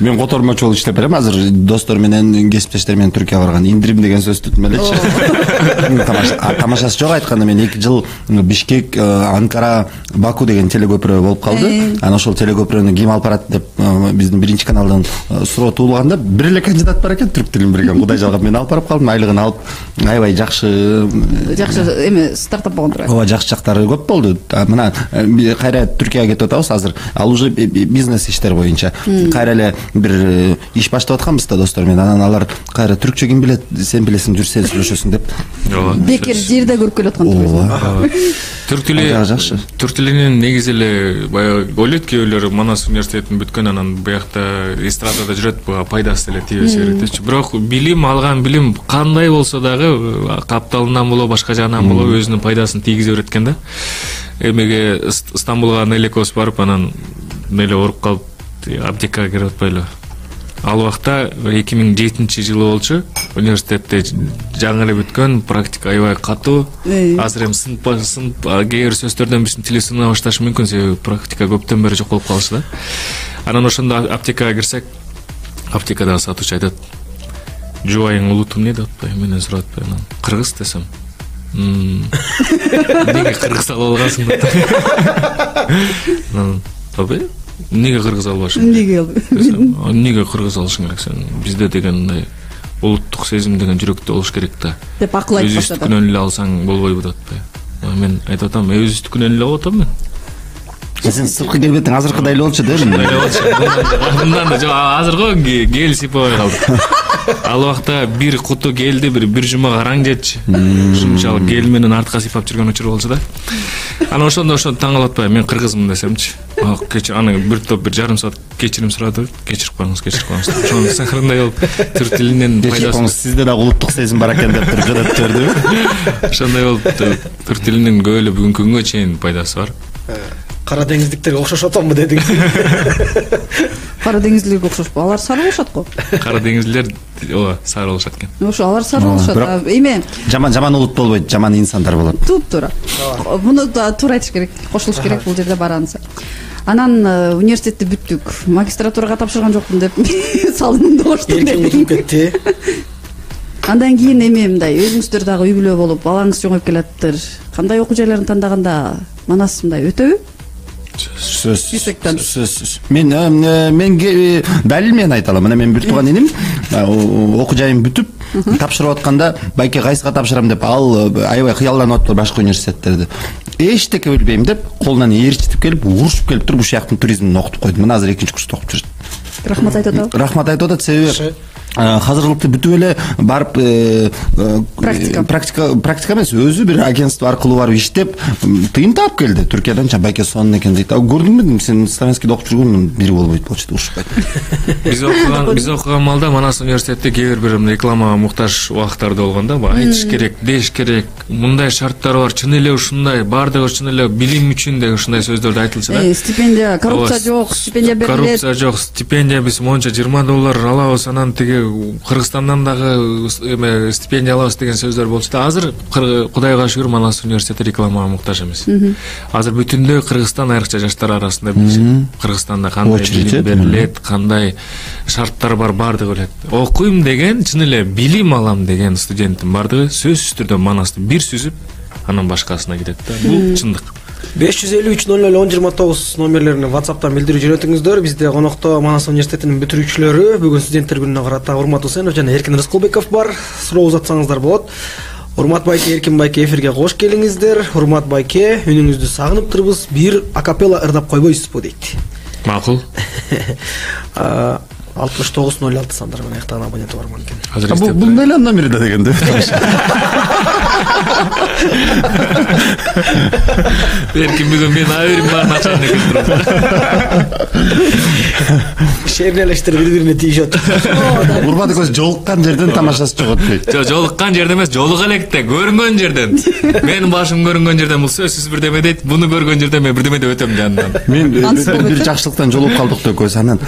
мен котормочу болуп иштеп берем. Азыр достор менен, кесиптештер менен Түркияга барган. Индирим деген сөздү түтүп элечи. Тамашасы жок айтканда мен 2 жыл Бишкек, Анкара, Баку деген телекөпүрө болуп калды. Анан ошол телекөпүрөнү ким алып барат деп биздин биринчи каналдан суроо туулганда бир эле кандидат бар экен, түрк тилин билген. Кудай жалгап мен алып барып калдым. Айлыгын алып, аябай жакшы эме стартап болгондур. Ооба, жакшы жактары көп болду. Кайра Түркияга кетип атабыз азыр. Ал уже бизнес иштер боюнча. Кайра эле бир иш баштап атканбыз да достор менен. Анан алар кайра түркчө ким билет, сен билесиң, жүрсөң сүйлөшөсүң деп. Ооба. Бекер жерде көрүп келаткан турбайсың. Түрк тилинин негизи эле баягы ойлойт кээ бирлөр Манас университетин бүткөн, анан буякта эстрадада жүрөт, буга пайдасы эле тийбесе керек депчи. Бирок билим алган билим кандай болсо дагы капталынан болобу, башка жагынан болобу өзүнүн пайдасын тийгизе берет экен да. Эмеге Стамбулга нелекос барып, анан меле ооруп калып аптекага кирип атпайлы. Ал убакта 2007-жылы болчу. Университетте жаңы эле бүткөн, практика аябай катуу. Азыр эми сынып кээ бир сөздөрдөн биздин тили сына башташы мүмкүн, себеби практика көптөн бери жок болуп калышы да. Анан ошондо аптекага кирсек, аптекада сатуучу айтат: "Жубайың улутум эмне?" деп атпайбы, менен сурап атпайбы. Анан кыргыз десем, "Неге кыргыз алып алгансың?" деп. Табы? Неге кыргыз албашым? Неге кыргыз алышың керек сен? Бизде деген мындай улуттук сезим деген жүрөктө болуш керек да. Деп акыл айтып баштады. Өзүстүкүнөн эле алсаң болбойбу деп атпайбы. Мен айтып атам, өзүстүкүнөн эле алып атам мен. Сен сырткы келбетиң азыркыдай эле болчу дедим. Мындан да азыркы гел сипабай калды. Ал убакта бир куту гелди бир жума караң жетчи. Ушунчалык гел менен артка сыйпап жүргөн учур болчу да. Анан ошондо таң калып атпайбы, мен кыргызмын десемчи. Кечир аны бир топ бир жарым саат кечирим сурады. Кечирип коюңуз. Ошону сахарындай болуп түрк тилинин пайдасы. Сизде да улуттук сезим бар экен деп туруп жадап берди. Ошондой болуп түрк тилинин көп эле бүгүнкү күнгө чейин пайдасы бар. Кара деңиздиктерге окшош атамбы дедиң? Кара деңиздиктерге окшошпу? Алар сары болушат го. Кара деңиздилер ооба сары болушат экен. Ошо алар сары болушат. Эме жаман улут болбойт, жаман инсандар болот. Туура. Муну да туура айтыш керек, кошулуш керек бул жерде баранса. Анан университетти бүттүк. Магистратурага тапшырган жокмун деп салынды коштум. Эркин утуп кетти. Андан кийин эме мындай өзүңүздөр дагы үй бүлө болуп, балаңыз чоңоюп келаттыр. Кандай окуу жайларын тандаганда Манас мындай өтөбү? Сөз. Мен далил мен айта алам. Мына мен бир тууган иним окуу жайын бүтүп тапшырып атканда байке кайсыга тапшырам деп ал аябай кыялданып атты башка университеттерди. Эчтеке билбейм деп колунан ээрчитип келип, урушуп келип туруп ушул жактын туризмин окутуп койду. Мына азыр 2-курста окуп жүрөт. Рахмат айтып атабы? Рахмат айтып атат, себеби казыркылыкты бүтүп эле барып практика эмес, өзү бир агентство аркылуу барып иштеп тыйын таап келди. Түркиядан Байке Сонун экен дейт. Көрдүңбү, сен Славянскийде окуп жүргөн бири болбойт болчу, ушпайт. Биз окуган малда Манас университетте кээ бир рекламага муктаж убактарда болгондо, айтыш керек, деш керек, мындай шарттар бар, чын эле ушундай, баардыгы чын эле билим үчүн деген ушундай сөздөрдү айтылчу да. Стипендия, коррупция жок, стипендия берилет. Коррупция жок, стипендия биз монча $20 алабыз, анан тиги Кыргызстандан дагы стипендия алабыз деген сөздөр болчу да. Азыр Кудайга шүгүр Манас университети рекламага муктаж эмес. Азыр бүтүндөй Кыргызстан айрыкча жаштар арасында билишет. Кыргызстанда кандай билим берилет, кандай шарттар бар, баардыгы билет. Окуйм деген, чын эле билим алам деген студенттин баардыгы сөзсүз түрдө Манасты бир сүзүп, анан башкасына кетет да. Бул чындык. 553-00-1029 номерлерине WhatsApp'тан билдирүү жөнөтүңүздөр. Бизде конокто Манас университетинин бүтүрүүчүлөрү, бүгүн студенттер күнүнө карата Урмат Усенов жана Эркин Рыскылбеков бар. Суроо узатсаңыздар болот. Урмат байке, Эркин байке эфирге кош келиңиздер. Урмат байке, үнүңүздү сагыныптырбыз. Бир акапелла ырдап койбойсузбу дейт. Макул. 6906 сандар менен аяктаган абоненти бар экен. Бул деле номери да дегенде. Эркин бүгүн мен айрым начальник келтирип. Шернелештер бири-бирине тийишет. Урмат экөөсү жолуккан жерден тамашасы жогот дейт. Жок, жолуккан жерден эмес, жолуга электе, көрүнгөн жерден. Менин башым көрүнгөн жерден бул сөзсүз бирдеме дейт. Буну көргөн жерден мен бирдеме деп өтөм жанынан. Мен бир жакшылыктан жолугуп калдык да экөөсү. Анан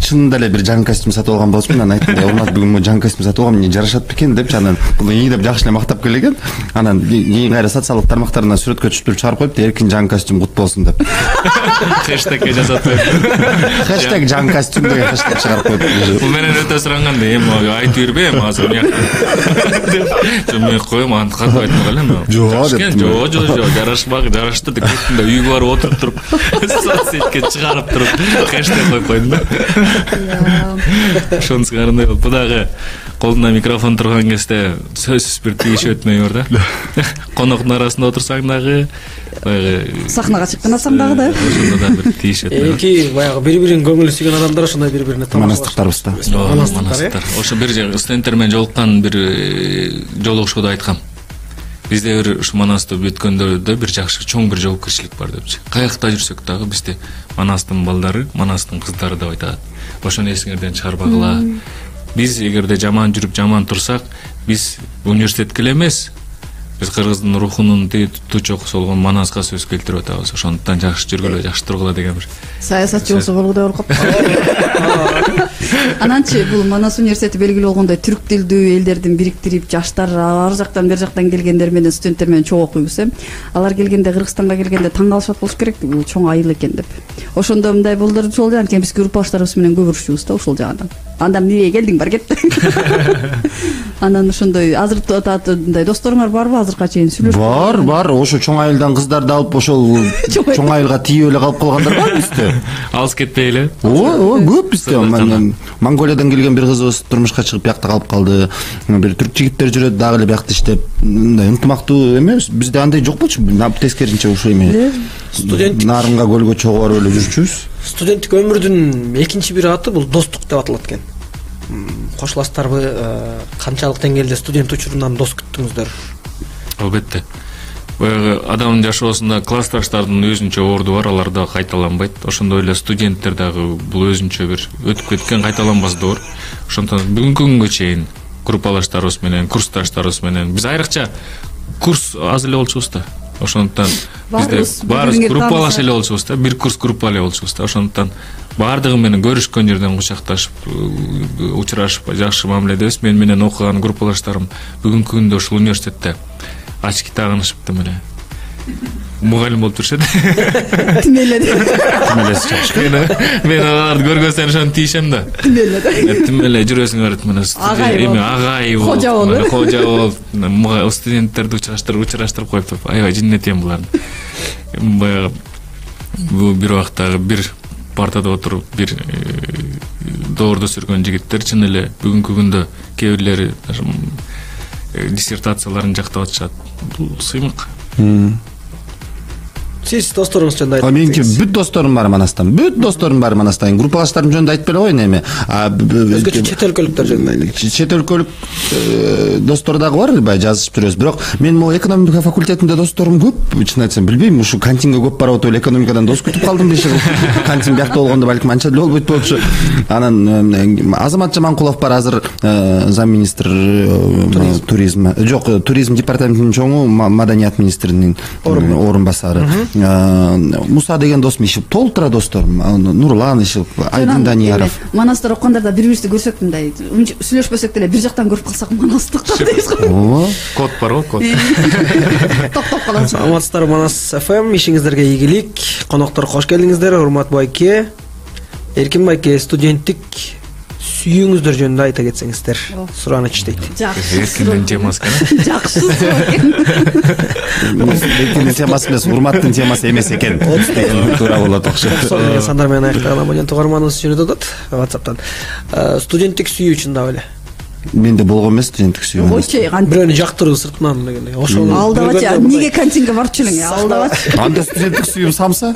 чынында эле бир жаңы костюм сатып алган болчумун. Анан айттым, Урмат бүгүн жаңы костюм сатып алгам, эмне жарашат бекен депчи. Анан бул ийи деп жакшы эле мактап келген. Анан кийин кайра социалдык тармактарына сүрөткө түшүрүп чыгарып коюп, Эркин жаңы костюм кут болсун деп. Хэштегге жазат. Хэштег жаңы костюм деген хэштег чыгарып коюп. Бул менен өтө суранганда, эми айтып бербейм азыр мен. Мен коем, аны катып айтмак элем. Жок, жарашмак, жарашты деп кеттим да, үйгө барып отуруп туруп, соцсетке чыгарып туруп, хэштег коюп койдум да. Ошонусу карандай болуп, дагы колунда микрофон турган кезде сөзсүз бир тийиш өтмөй бар да. Коноктун арасында отурсаң дагы, сахнага чыккан дагы да. Ошондо да бир тийиш өтмөй. Эки баягы бири-бирин көңүлү сүйгөн адамдар ошондой бири-бирине Манастыктарбыз да. Манастыктар. Ошо бир студенттер менен жолуккан бир жолугушууда айткам. Бизде бир ушу Манасты бүткөндөрдө бир жакшы чоң бир жоопкерчилик бар депчи. Каякта жүрсөк дагы бизде Манастын балдары, Манастын кыздары деп айтат. Ошону эсиңерден чыгарбагыла. Биз эгерде жаман жүрүп, жаман турсак, биз университетке эле эмес, биз кыргыздын рухунун тучокусу болгон Манаска сөз келтирип атабыз. Ошондуктан жакшы жүргүлө, жакшы тургула деген бир саясатчы болсо болгудай болуп калып. Ананчы бул Манас университети белгилүү болгондой түрк тилдүү элдердин бириктирип, жаштар ар жактан бер жактан келгендер менен студенттер менен чогуу окуйбуз. Алар келгенде, Кыргызстанга келгенде таң калышат болуш керек, бул чоң айыл экен деп. Ошондо мындай болдор ошол жаган экен, биз группаштарыбыз менен көп урушчубуз да ошол жагынан. Андан эмнеге келдиң, бар кет. Анан ошондой азыр мындай досторуңар барбы азыркыга чейин сүйлөшүп? Бар, ошо чоң айылдан кыздарды алып ошол чоң айылга тийип эле калып калгандар бар бизде. Алыс кетпей эле. Оо, көп бизде. Монголиядан келген бир кызыбыз турмушка чыгып биякта калып калды. Бир түрк жигиттер жүрөт дагы эле биякта иштеп. Мындай ынтымактуу эмес, бизде андай жок болчу. Тескерисинче ушул эме. Студент нарынга көлгө чогуу барып эле жүрчүбүз. Студенттик өмүрдүн экинчи бир аты бул достук деп аталат экен. Кошуласыздарбы? Канчалык деңгээлде студент учурунан дос күттүңүздөр? Албетте. Баягы адамдын жашоосунда классташтардын өзүнчө орду бар, алар да кайталанбайт. Ошондой эле студенттер дагы бул өзүнчө бир өтүп кеткен кайталанбас доор. Ошондон бүгүнкү күнгө чейин группалаштарыбыз менен, курсташтарыбыз менен биз айрыкча курс аз эле болчубуз да. Ошондуктан бизде баарыбыз группалаш эле болчубуз да, бир курс группа эле болчубуз да. Ошондуктан баардыгы менен көрүшкөн жерден кучакташып, учурашып, жакшы мамиледебиз. Мен менен окуган группалаштарым бүгүнкү күндө ушул университетте ачки тагынышыптым эле. Мугалим болуп жүрүшөт. Тимелеси чакшы. Мен аларды көргөн сайын ошону тийишем да. Тимеле жүрөсүң барып менен эми агай болуп, кожа болуп, студенттерди учураштырып коюп туруп, аябай жиннетем буларды. Баягы бул бир убактагы бир партада отуруп, бир доордо сүргөн жигиттер чын эле бүгүнкү күндө кээ бирлери диссертацияларын жактап атышат. Бул сыймык. Сиз досторуңуз жөнүндө айтып Меники кетсеңиз. бүт досторум бар Манастан. Бүт досторум бар Манастан. Группалаштарым жөнүндө айтып эле коеюн эми. Өзгөчө чет өлкөлүктөр жөнүндө. Чет өлкөлүк достор дагы бар, баягы жазышып жүрөбүз. Бирок мен могу экономика факультетинде досторум көп. Чын айтсам билбейм, ушу кантинге көп барып отуп эле экономикадан дос күтүп калдым беши. Кантин биякта болгондо балким анча деле болбойт болчу. Анан Азамат Жаманкулов бар азыр замминистр туризм. Жок, туризм департаментинин чоңу, маданият министринин орун басары. Муса деген досум иши толтура досторум. Нурлан иши, Айдын Данияров. Манастар окугандарда бири-бирибизди көрсөк мындай сүйлөшпөсөк деле бир жактан көрүп калсак манастыктан дейбиз го. Код бар го, код. Токтоп калат. Аматсыздар, Манас ФМ, ишиңиздерге ийгилик. Коноктор кош келдиңиздер. Урмат байке, Эркин байке, студенттик сүйүүңүздөр жөнүндө айта кетсеңиздер. Сураныч дейт. Эркиндин темасы экен. Жакшы экен. Эркиндин темасы эмес, урматтын темасы эмес экен. Туура болот окшойт. Сонун сандар менен аяктаган абонент угарманыбыз жөнүндө атат WhatsApp'тан. Студенттик сүйүү чындап эле. Менде болгон эмес студенттик сүйүү. Ойчу Бирөөнү жактыруу сыртынан дегендей. Ошол алдабачы, эмнеге кантинге барчу элең? Алдабачы. Анда студенттик сүйүүм самса?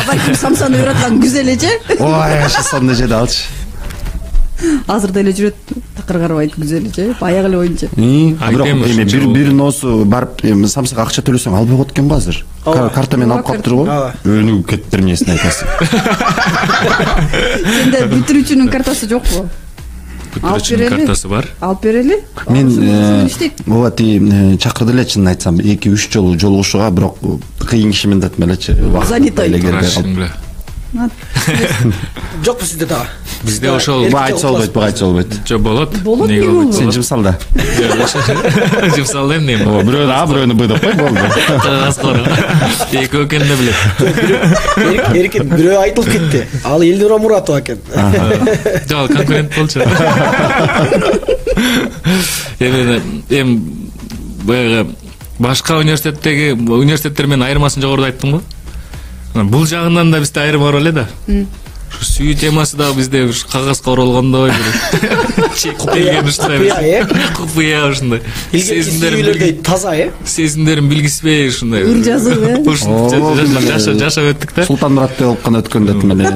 Балким самсаны ыраткан күзел эже. Ой, сонун эже да алчы. Азыр деле жүрөт, такыр карабайт күзел эже. Баягы эле оюнчу. Бирок эми бир носу барып самсага акча төлөсөң албай коет экен го азыр. Карта менен алып калыптыр го. Өнүгүп кетиптир эмнесин айтасың. Сенде бүтүрүүчүнүн картасы жокпу? Бүтүрүүчүнүн картасы бар. Алып берели. Мен ооба чакырды эле, чынын айтсам 2-3 жолу жолугушууга, бирок кыйын кишимин деп элечи. Занятой. Жокпу сизде дагы? Бизде ошол айтса болбойт. Жок болот. Неге болбойт? Сен жымсал да. Жымсал эмне? Ооба, бирөөнү бирөөнү Б деп кой, болду. Экөө экенин билет. Эркин бирөө айтылып кетти. Ал Элнура Муратова экен. Жок, конкурент болчу. Эми баягы башка университеттер менен айырмасын жогоруда айттым го. Бул жагынан да бизде айырма бар эле да. Ушу сүйүү темасы да бизде кагазга оролгондой бир чектелген ушундай. Купуя ушундай. Сезимдерим таза, сезимдерим билгисбей ушундай. Ыр жазып, Жашап өттүк да. Султанмураттай болуп кана өткөн деп эле.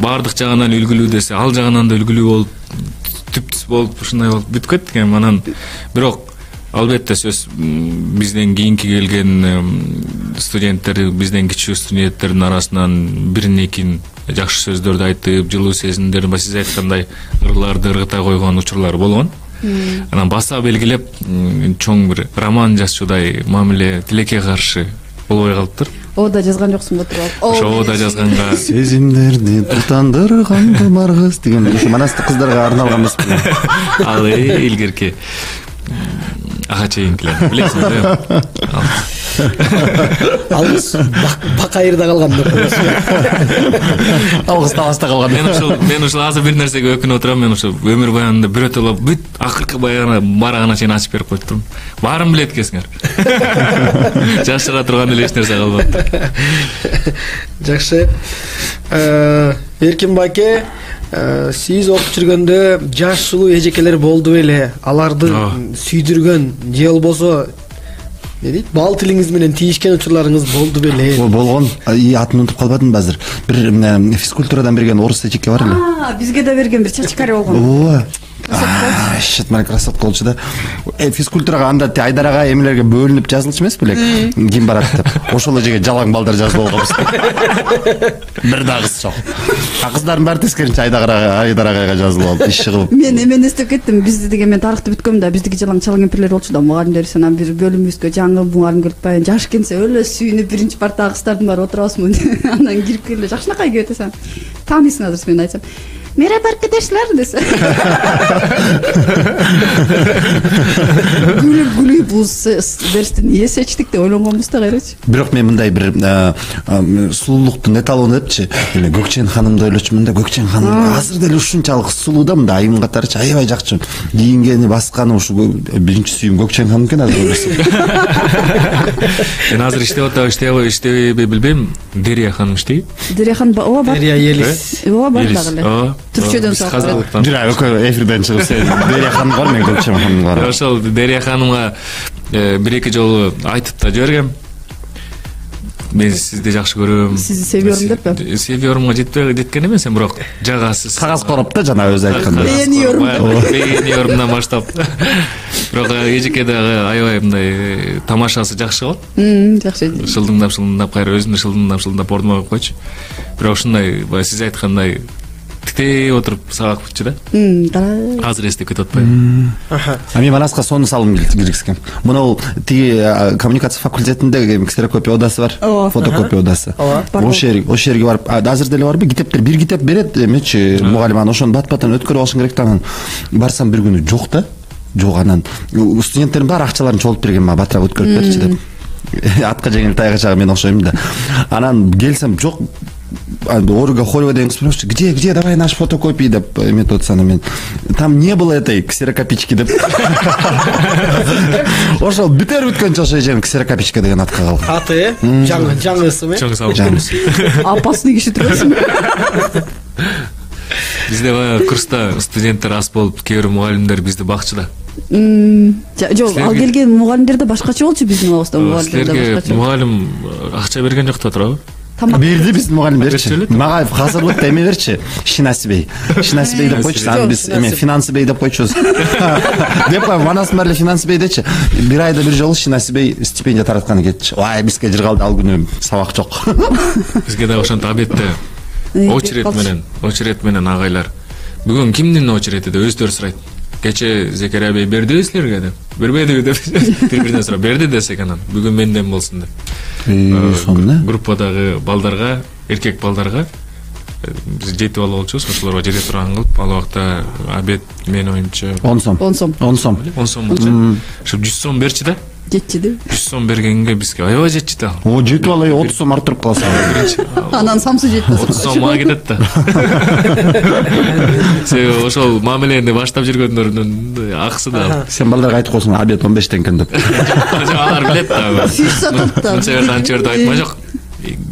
Бардык жагынан үлгүлүү десе, ал жагынан да үлгүлүү болуп, түптүс болуп, ушундай болуп бүтүп кеттик эми. Анан бирок албетте сөз бизден кийинки келген студенттер, бизден кичүү студенттердин арасынан бирин-экин жакшы сөздөрдү айтып, жылуу сезимдерин сиз айткандай ырларды ыргыта койгон учурлар болгон. Анан баса белгилеп чоң бир роман жазчудай мамиле тилекке каршы болбой калыптыр. Ода жазган жоксуңбу туруп? Ошода жазганга сезимдерди тутандырган кымаргыз деген ушу манастык кыздарга арналган эмеспи? Ал илгерки ага чейинкилер билесиңер. Алгыс бакайырда калган деп коесуң. Алгыс таласта калган. Мен ушул азыр бир нерсеге өкүнүп отурам. Мен ушул өмүр баянында бирөтөлө бүт акыркы барагына чейин ачып берип коюп турмун. Баарын билет экенсиңер. Жашыра турган эле эч нерсе калбаптыр. Жакшы. Эркин байке, сиз окуп жүргөндө жаш сулуу эжекелер болду беле? Аларды сүйдүргөн же болбосо бал тилиңиз менен тийишкен учурларыңыз болду беле? Болгон. Атын унутуп калбадым азыр. Бир физкультурадан берген орус эжеке бар эле. Бизге да берген бир чачкари болгон. Ооба. Шатман красотка болчу да. Физкультурага анда Айдарага эмелерге бөлүнүп жазылчу эмес белек? Ким барат деп. Ошол эжеге жалаң балдар жазып алганбыз. Бир да кыз жок. Кыздардын баары тескеринче Айдарага жазылып алып, иш кылып. Мен эмени эстеп кеттим. Бизди деген мен тарыхты бүткөм да, биздики жалаң чалаң кемпирлер болчу да, мугалимдер анан бир бөлүмүбүзгө жаңы мугалим келип баягы жаш келсе өлө сүйүнүп биринчи партага кыздардын баары отурабызмы? Анан кирип келе жакшынакай келип атасың. Таанисың азыр мен айтсам. Merhaba arkadaşlar dese. Gülüp bu dersten niye seçtik de ойлонгонбуз да кайрачы. Бирок мен мындай бир сулуулуктун эталону депчи, эле Көкчен ханымды ойлочумун да, Көкчен ханым азыр деле ушунчалык сулуу да, мындай айым катарчы аябай жакчы. Кийингени, басканы ушу биринчи сүйүм Көкчен ханым экен азыр ойлосом. Мен азыр иштебейби билбейм. Дерия ханым иштейт. Дерия ханым ооба бар. Дерия Елис. Ооба бар дагы эле. Түрчөдөн саап. Жура, эфирден чыгып сен Дерия ханым бар, мен Көкчен ханым бар. Ошол Дерия ханымга бир-эки жолу айтып да жибергем. мен сизди жакшы көрөм. Сизди себиyorum деппи? Себиyorumга жеткен эмес, бирок жагасыз. Кагаз короп да жана өзү айткандай. Beğeniyorumдан баштап. Бирок эжеке дагы аябай мындай тамашасы жакшы болот. Жакшы. Шылдыңдап кайра өзүнө шылдыңдап ордума коюп койчу. Бирок ушундай баягы сиз айткандай тиктей отуруп сабак бүтчү да. Азыр эстеп кетип атпайбы? Мен Манаска сону салым киргизгем. Мына тиги коммуникация факультетинде ксерокопия одасы бар, фотокопия одасы. Ошол жерге барып, азыр деле барбы? Китептер, бир китеп берет, эмечи мугалим анан ошону бат-баттан өткөрүп алышың керек да. Анан барсам бир күнү жок да. Жок, анан студенттердин баары акчаларын чогултуп берген, мага батыраак өткөрүп берчи деп. Атка жеңил тайгачага мен окшойм да. Анан келсем жок. Ольга Холева деген кыз спрашивает, где, давай наш фотокопии, деп эметип атса, мен там не было этой ксерокопички деп. Ошол бүтөр бүткөнчө ошо эжем ксерокопичка деген атка калган. Аты жаңы ысымы? Жаңы. Опасный киши турасың. Бизде баягы курста студенттер аз болуп, кээ бир мугалимдер бизди бакчы да. Жок, ал келген мугалимдер да башкача болчу биздин абызда мугалимдер да башкача. Силерге мугалим акча берген жок да турабы? Берди биздин мугалим берчи. Мага азырлыкта эме берчи. Шинасибей деп койчу. Аны биз эме финансыбей деп койчубуз. Деп Манастын баары финансыбей дечи. Бир айда бир жолу Шинасибей стипендия таратканы кетчи. Ой, бизге жыргалды ал күнү сабак жок. Бизге да ошентип обедте очеред менен агайлар. Бүгүн кимдин очереди деп өздөрү сурайт. Кече Зекерия бей бердиби силерге деп. Бербедиби деп бири-биринен сурап берди десек анан бүгүн менден болсун деп. Группадагы балдарга, эркек балдарга биз 7 бала болчубуз, ошолорго жете турган кылып, ал убакта обед мен оюмча 10 сом. 10 сом. 10 сом. 10 сом болчу. Ошо 100 сом берчи да. Жетчи да. 100 сом бергенге бизге аябай жетчи да. О, жетип алай 30 сом артырып каласың. Анан самсы жетпес. 30 сом мага кетет да. Себеби ошол мамилени баштап жүргөндөрдүн акысы да. Сен балдарга айтып койсуң, обед 15 теңге деп. Алар билет да. Фиш сатып да. Анча жерде айтма жок.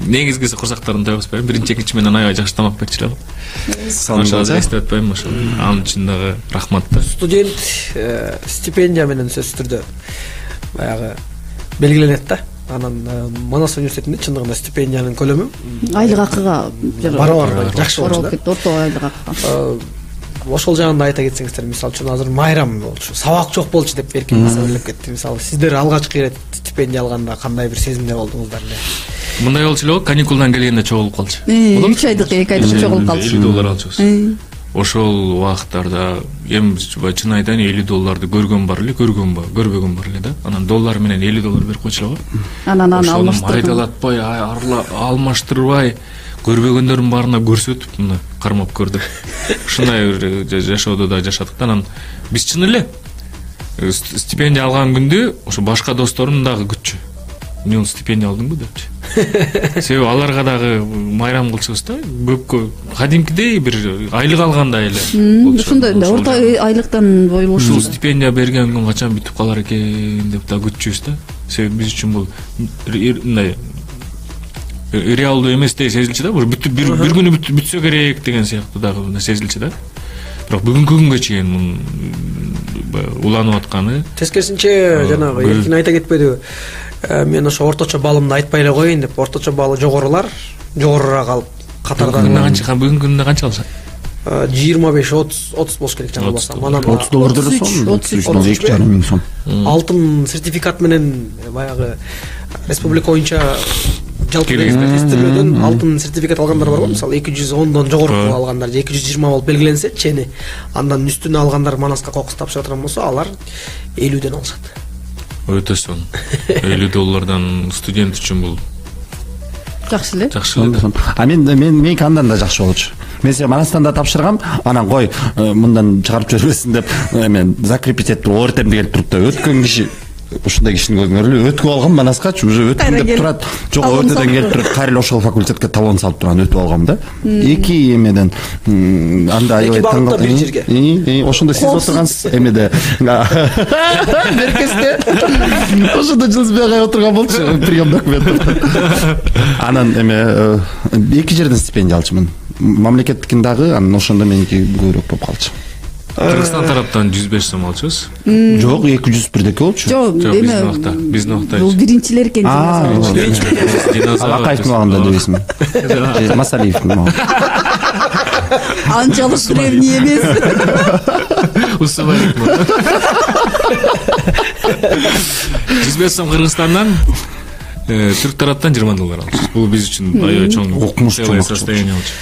Негизгиси курсактарын тойгузбайм. Биринчи, экинчи менен аябай жакшы тамак берчү эле. Ошол эстеп атпайм ошол. Анын үчүн дагы рахмат да. Студент стипендия менен сөзсүз түрдө баягы белгиленет да. Анан Манас университетинде чындыгында стипендиянын көлөмү айлык акыга барабар жакшы болчу да. Орто айлык акыга. Ошол жагында айта кетсеңиздер, мисалы үчүн азыр майрам болчу, сабак жок болчу деп эркин сөйлөп кетти. Мисалы сиздер алгачкы ирет стипендия алганда кандай бир сезимде болдуңуздар эле? Мындай болчу эле, каникулдан келгенде чогулуп калчу. 3 айдык, 2 айдык чогулуп калчу. $50 алчубуз. Ошол убакыттарда эми чын айтайын, $50 көргөн бар эле, көрбөгөн бар эле да. Анан доллар менен $50 берип койчу эле го. Анан алмаштырып, айдалатпай, алмаштырбай, көрбөгөндөрдүн баарына көрсөтүп, мына кармап көр деп. Ушундай жашоодо да жашадык да. Анан биз чын эле стипендия алган күндө ошо башка досторум дагы күтчү. Мен стипендия алдымбы депчи. Себеби аларга дагы майрам кылчубуз да. Көпкө кадимкидей бир айлык алгандай эле. Ушундай орто айлыктан бойлушу. Ушул стипендия берген күн качан бүтүп калар экен деп да күтчүбүз да. Себеби биз үчүн бул мындай реалдуу эместей сезилчү да. Бир күнү бүтсө керек деген сыяктуу дагы сезилчү да. Бирок бүгүнкү күнгө чейин уланып атканы. Тескерисинче жанагы эркин айта кетпедиби? Мен ошо орточо балымды айтпай эле коеюн деп, орточо баалы жогорулар жогорураак алып катардагы бүгүнкү күндө канча алышат? 25-30 болуш керек жаңылбасам. Манан $30 деле сом, 2,5 миң сом. Алтын сертификат менен баягы республика боюнча жалпы тестирөөдөн алтын сертификат алгандар бар го, мисалы 210дон жогору алгандар, 220 болуп белгиленсе, чени андан үстүнө алгандар Манаска кокус тапшыра турган болсо, алар 50ден алышат. Өтө сонун. $50 студент үчүн бул жакшы эле. Жакшы эле. А меники андан да жакшы болчу. Мен сен Манастан да тапшыргам, анан кой мындан чыгарып жибербесин деп мен закрепить этип ОРТМ деген туруп да өткөн киши ушундай кишини көргөнгөрү өтүп алгам Манаскачы, уже өттүм деп турат. Жок, ОРТМден келип туруп, кайра ошол факультетке талон салып турган өтүп алгам да. Эки эмеден анда аябай таң калдым. Ошондо сиз отургансыз эмеде. Беркесте. Ошондо жылсбай агай отурган болчу, прием документ. Анан эме эки жерден стипендия алчумун. Мамлекеттикин дагы, анан ошондо меники көбүрөөк болуп калчу. Кыргызстан тараптан 105 сом алчубуз. Жок, 200 бирдеке болчу. Жок, биздин убакта. Бул биринчилер экен. Акаевдин убагында дебесизби? Масалиевдин убагында. Анчалык древний эмес. Усубай. 105 сом Кыргызстандан, түрк тараптан $20 алчубуз. Бул биз үчүн аябай чоң состояние болчу.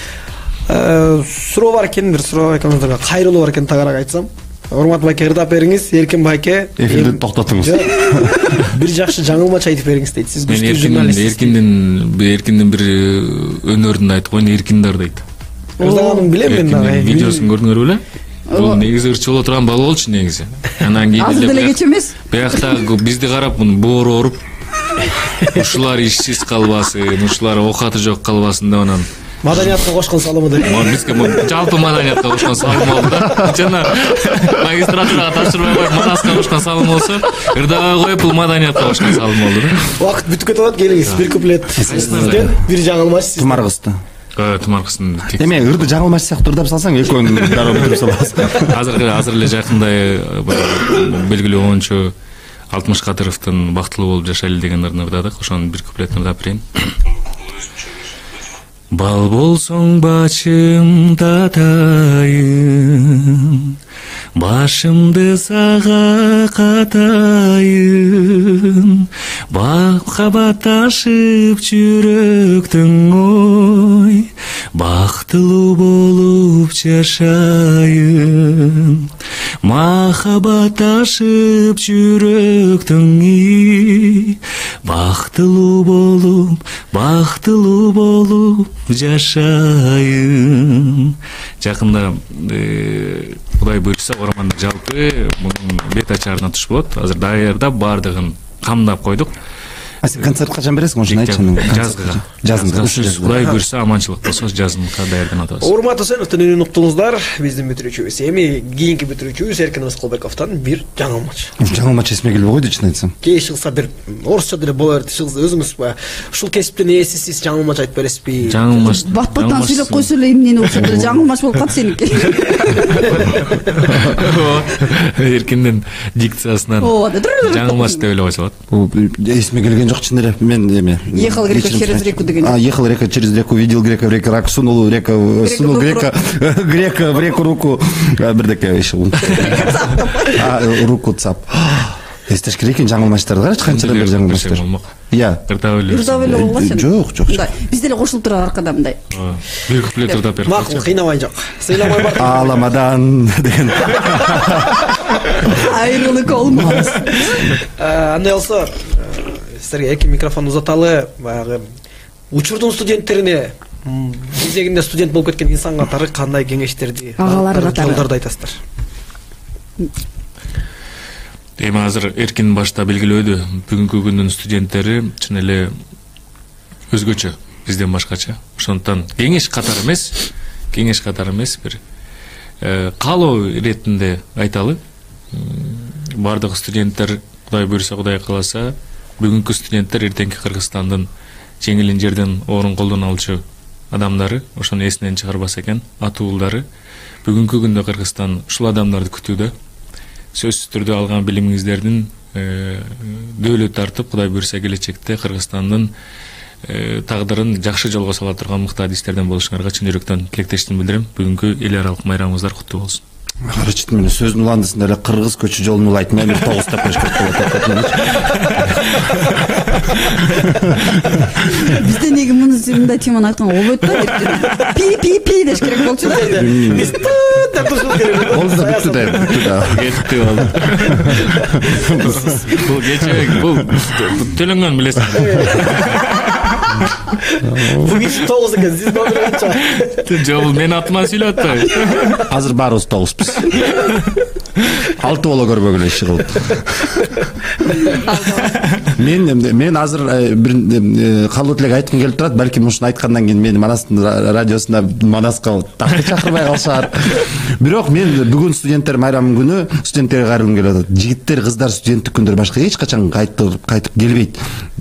Суроо бар экен, бир суроо экөөңүздөргө кайрылуу бар экен, тагыраак айтсам. Урмат байке, ырдап бериңиз. Эркин байке, эфирди токтотуңуз. Бир жакшы жаңылмач айтып бериңиз дейт. Сиз күчтүү журналист. Эркиндин бир өнөрүн айтып койгон, Эркиндар дейт. Ырдаганын билем мен дагы. Видеосун көрдүңөр беле? Бул негизи ырчы боло турган бала болчу негизи. Анан кийин азыр деле кеч эмес. Биякта бизди карап боору ооруп, ушулар ишсиз калбасын, ушулар оокаты жок калбасын деп анан маданиятка кошкон салымы деп. Бизге жалпы маданиятка кошкон салым болду да. Жана магистратурага тапшырбай коюп Манаска кошкон салым болсо, ырдабай коюп бул маданиятка кошкон салым болду да. Убакыт бүтүп кетип атат, келиңиз. Бир куплет сизден, бир жаңылмач сизден. Тумаргызды. Тумаргыздын. Эме ырды жаңылмач сыяктуу ырдап салсаң, экөөнү дароо бүтүрүп саласың. Азыр эле жакында белгилүү оончу Алтымыш Кадыровдун бактылуу болуп жашайлы деген ырдын ырдадык. Ошонун бир куплетин ырдап берейин. Бал болсоң бачым татайын, башымды сага катайын, махаббатташып жүрөктүң ой, бактылуу болуп жашайын. Махаббатташып жүрөктүң бактылуу болуп жашайын. Жакында Кудай буйрса Ормандык жалпы мунун бет ачарына туш болот. Азыр даярдап бардыгын камдап койдук. А сен концерт качан бересиң, ошону айтчы. Жазында. Кудай буйрса аманчылык болсо жазымга даярданып атабыз. Урматтуу өнүктүн уктуңуздар, биздин бүтүрүүчүбүз. Эми кийинки бүтүрүүчүбүз Эркин Рыскылбековдон бир жаңылмач. Жаңылмач эсиме келбей койду, чын айтсам. Кээ чыгса бир орусча деле боло берди. Өзүңүз ушул кесиптин ээсисиз жаңылмач айтып бересизби? Жаңылмач. Бат-баттан сүйлөп койсо эле эмнени окшоп деле жаңылмач болуп калат сеники. Эркиндин дикциясынан жаңылмач деп эле койсо болот. Эсиме келген жок, чын эле. Мен ехал грека через реку деген. Ехал река через реку, видел грека в реке, рак сунул грека в реку руку, бирдеке еще руку цап. Эстеш керек экен жаңылмачтарды карачы, канчадан бери жаңылмачтар. Ырдап эле болбосун. Жок. Биз деле кошулуп туралы аркадан мындай. Бир куплет ырдап берип. Макул, кыйнабай жок. Сыйламай бар. Аламадан деген. Айрылык болмос. Андай болсо, силерге эки микрофон узаталы. Баягы учурдун студенттерине, кезегинде студент болуп кеткен инсан катары кандай кеңештерди, агалары катары жолдорду айтасыздар? Эми азыр Эркин башта белгилөөдү, бүгүнкү күндүн студенттери чын эле өзгөчө, бизден башкача. Ошондуктан кеңеш катары эмес, бир каалоо иретинде айталы. Бардык студенттер, Кудай буйрса, Кудай кааласа, бүгүнкү студенттер эртеңки Кыргызстандын жеңилин жерден орун колдон алчу адамдары, ошону эсинен чыгарбаса экен, атуулдары. Бүгүнкү күндө Кыргызстан ушул адамдарды күтүүдө. Сөзсүз түрдө алган билимиңиздердин дөөлөт тартып, Кудай буйрса келечекте Кыргызстандын тагдырын жакшы жолго сала турган мыкты адистерден болушуңарга чын жүрөктөн тилектештик билдирем. Бүгүнкү эл аралык майрамыңыздар куттуу болсун. Карачы мен сөздүн уландысында эле кыргыз көчү жолун улайтын, мен 9 деп коюш керек болот. Бизде неге мындай теманы айтканга болбойт да? Пи деш керек болчу да. Биз деп турушубуз керек. Болду бүттү да. Кетти болду. Бул кече бул төлөнгөн билесиң. Бүгүн 9 экен, сиз номер канча? Жок, бул мен атыман сүйлөп атпайбы? Азыр баарыбыз 9-пуз. 6 боло көрбөгүлө иши кылып. Мен азыр бир калуу тилек айткым келип турат. Балким ушуну айткандан кийин мени Манастын радиосунда Манаска такты чакырбай калышар. Бирок мен бүгүн студенттер майрамы күнү студенттерге кайрылгым келип атат. Жигиттер, кыздар студенттик күндөр башка эч качан кайтып келбейт.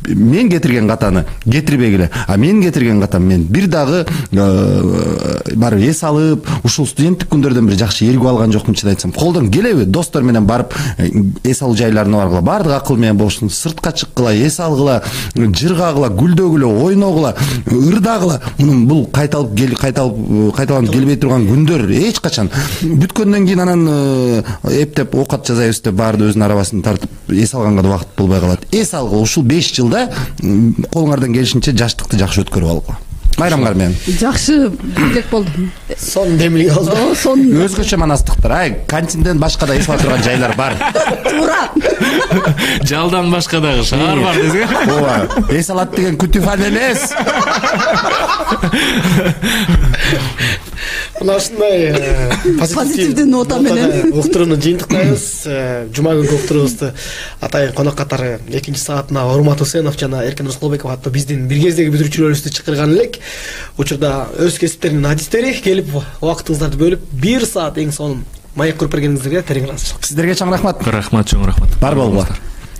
мен кетирген катаны кетирбегиле, а мен кетирген катам мен бир дагы барып эс алып, ушул студенттик күндөрдөн бери жакшы ээргип алган жокмун, чын айтсам. Колдон келеби достор менен барып эс алуу жайларына баргыла, баардык акыл менен болушун, сыртка чыккыла, эс алгыла, жыргагыла, гүлдөгүлө, ойногула, ырдагыла. Мунун бул кайталанып келбей турган күндөр эч качан. Бүткөндөн кийин анан эптеп оокат жасайбыз деп баарды өзүнүн арабасын тартып эс алганга да убакыт болбой калат. Эс алгыла, ушул 5 жылда колуңардан келишинче жаштыкты жакшы өткөрүп алгыла. Майрамгар менен. Жакшы билек болду. Сон демилге алды. Сон Өзгөчө манастыктар. Кантинден башка да эс ала турган жайлар бар. туура. Жалдан башка дагы шаар бар десең. Ооба. Эс алат деген күтүфан эмес. Мына ушундай Позитивдүү нота менен уктурууну жыйынтыктайбыз. Жума күнкү уктуруубузду атайын конок катары 2-саатына Урмат Усенов жана Эркин Рыскылбеков аттуу биздин бир кездеги бүтүрүүчүлөрүбүздү чакырган элек. Учурда өз кесиптеринин адистери келип убактыңыздарды бөлүп 1 саат эң сонун маек куруп бергениңиздерге терең ыраазычылык. Сиздерге чоң рахмат. Рахмат, чоң рахмат. Бар болгула.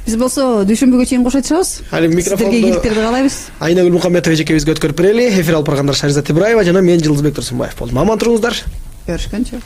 биз болсо дүйшөмбүгө чейин кошо чыгабыз. Али микрофонду сиздерге ийгиликтерди каалайбыз. Айнагүл Мухаммедова эжекебизге өткөрүп берели. Эфир алып баргандар Шаризат Ибраева жана мен Жылдызбек Турсунбаев болдум. Аман туруңуздар. Көрүшкөнчө.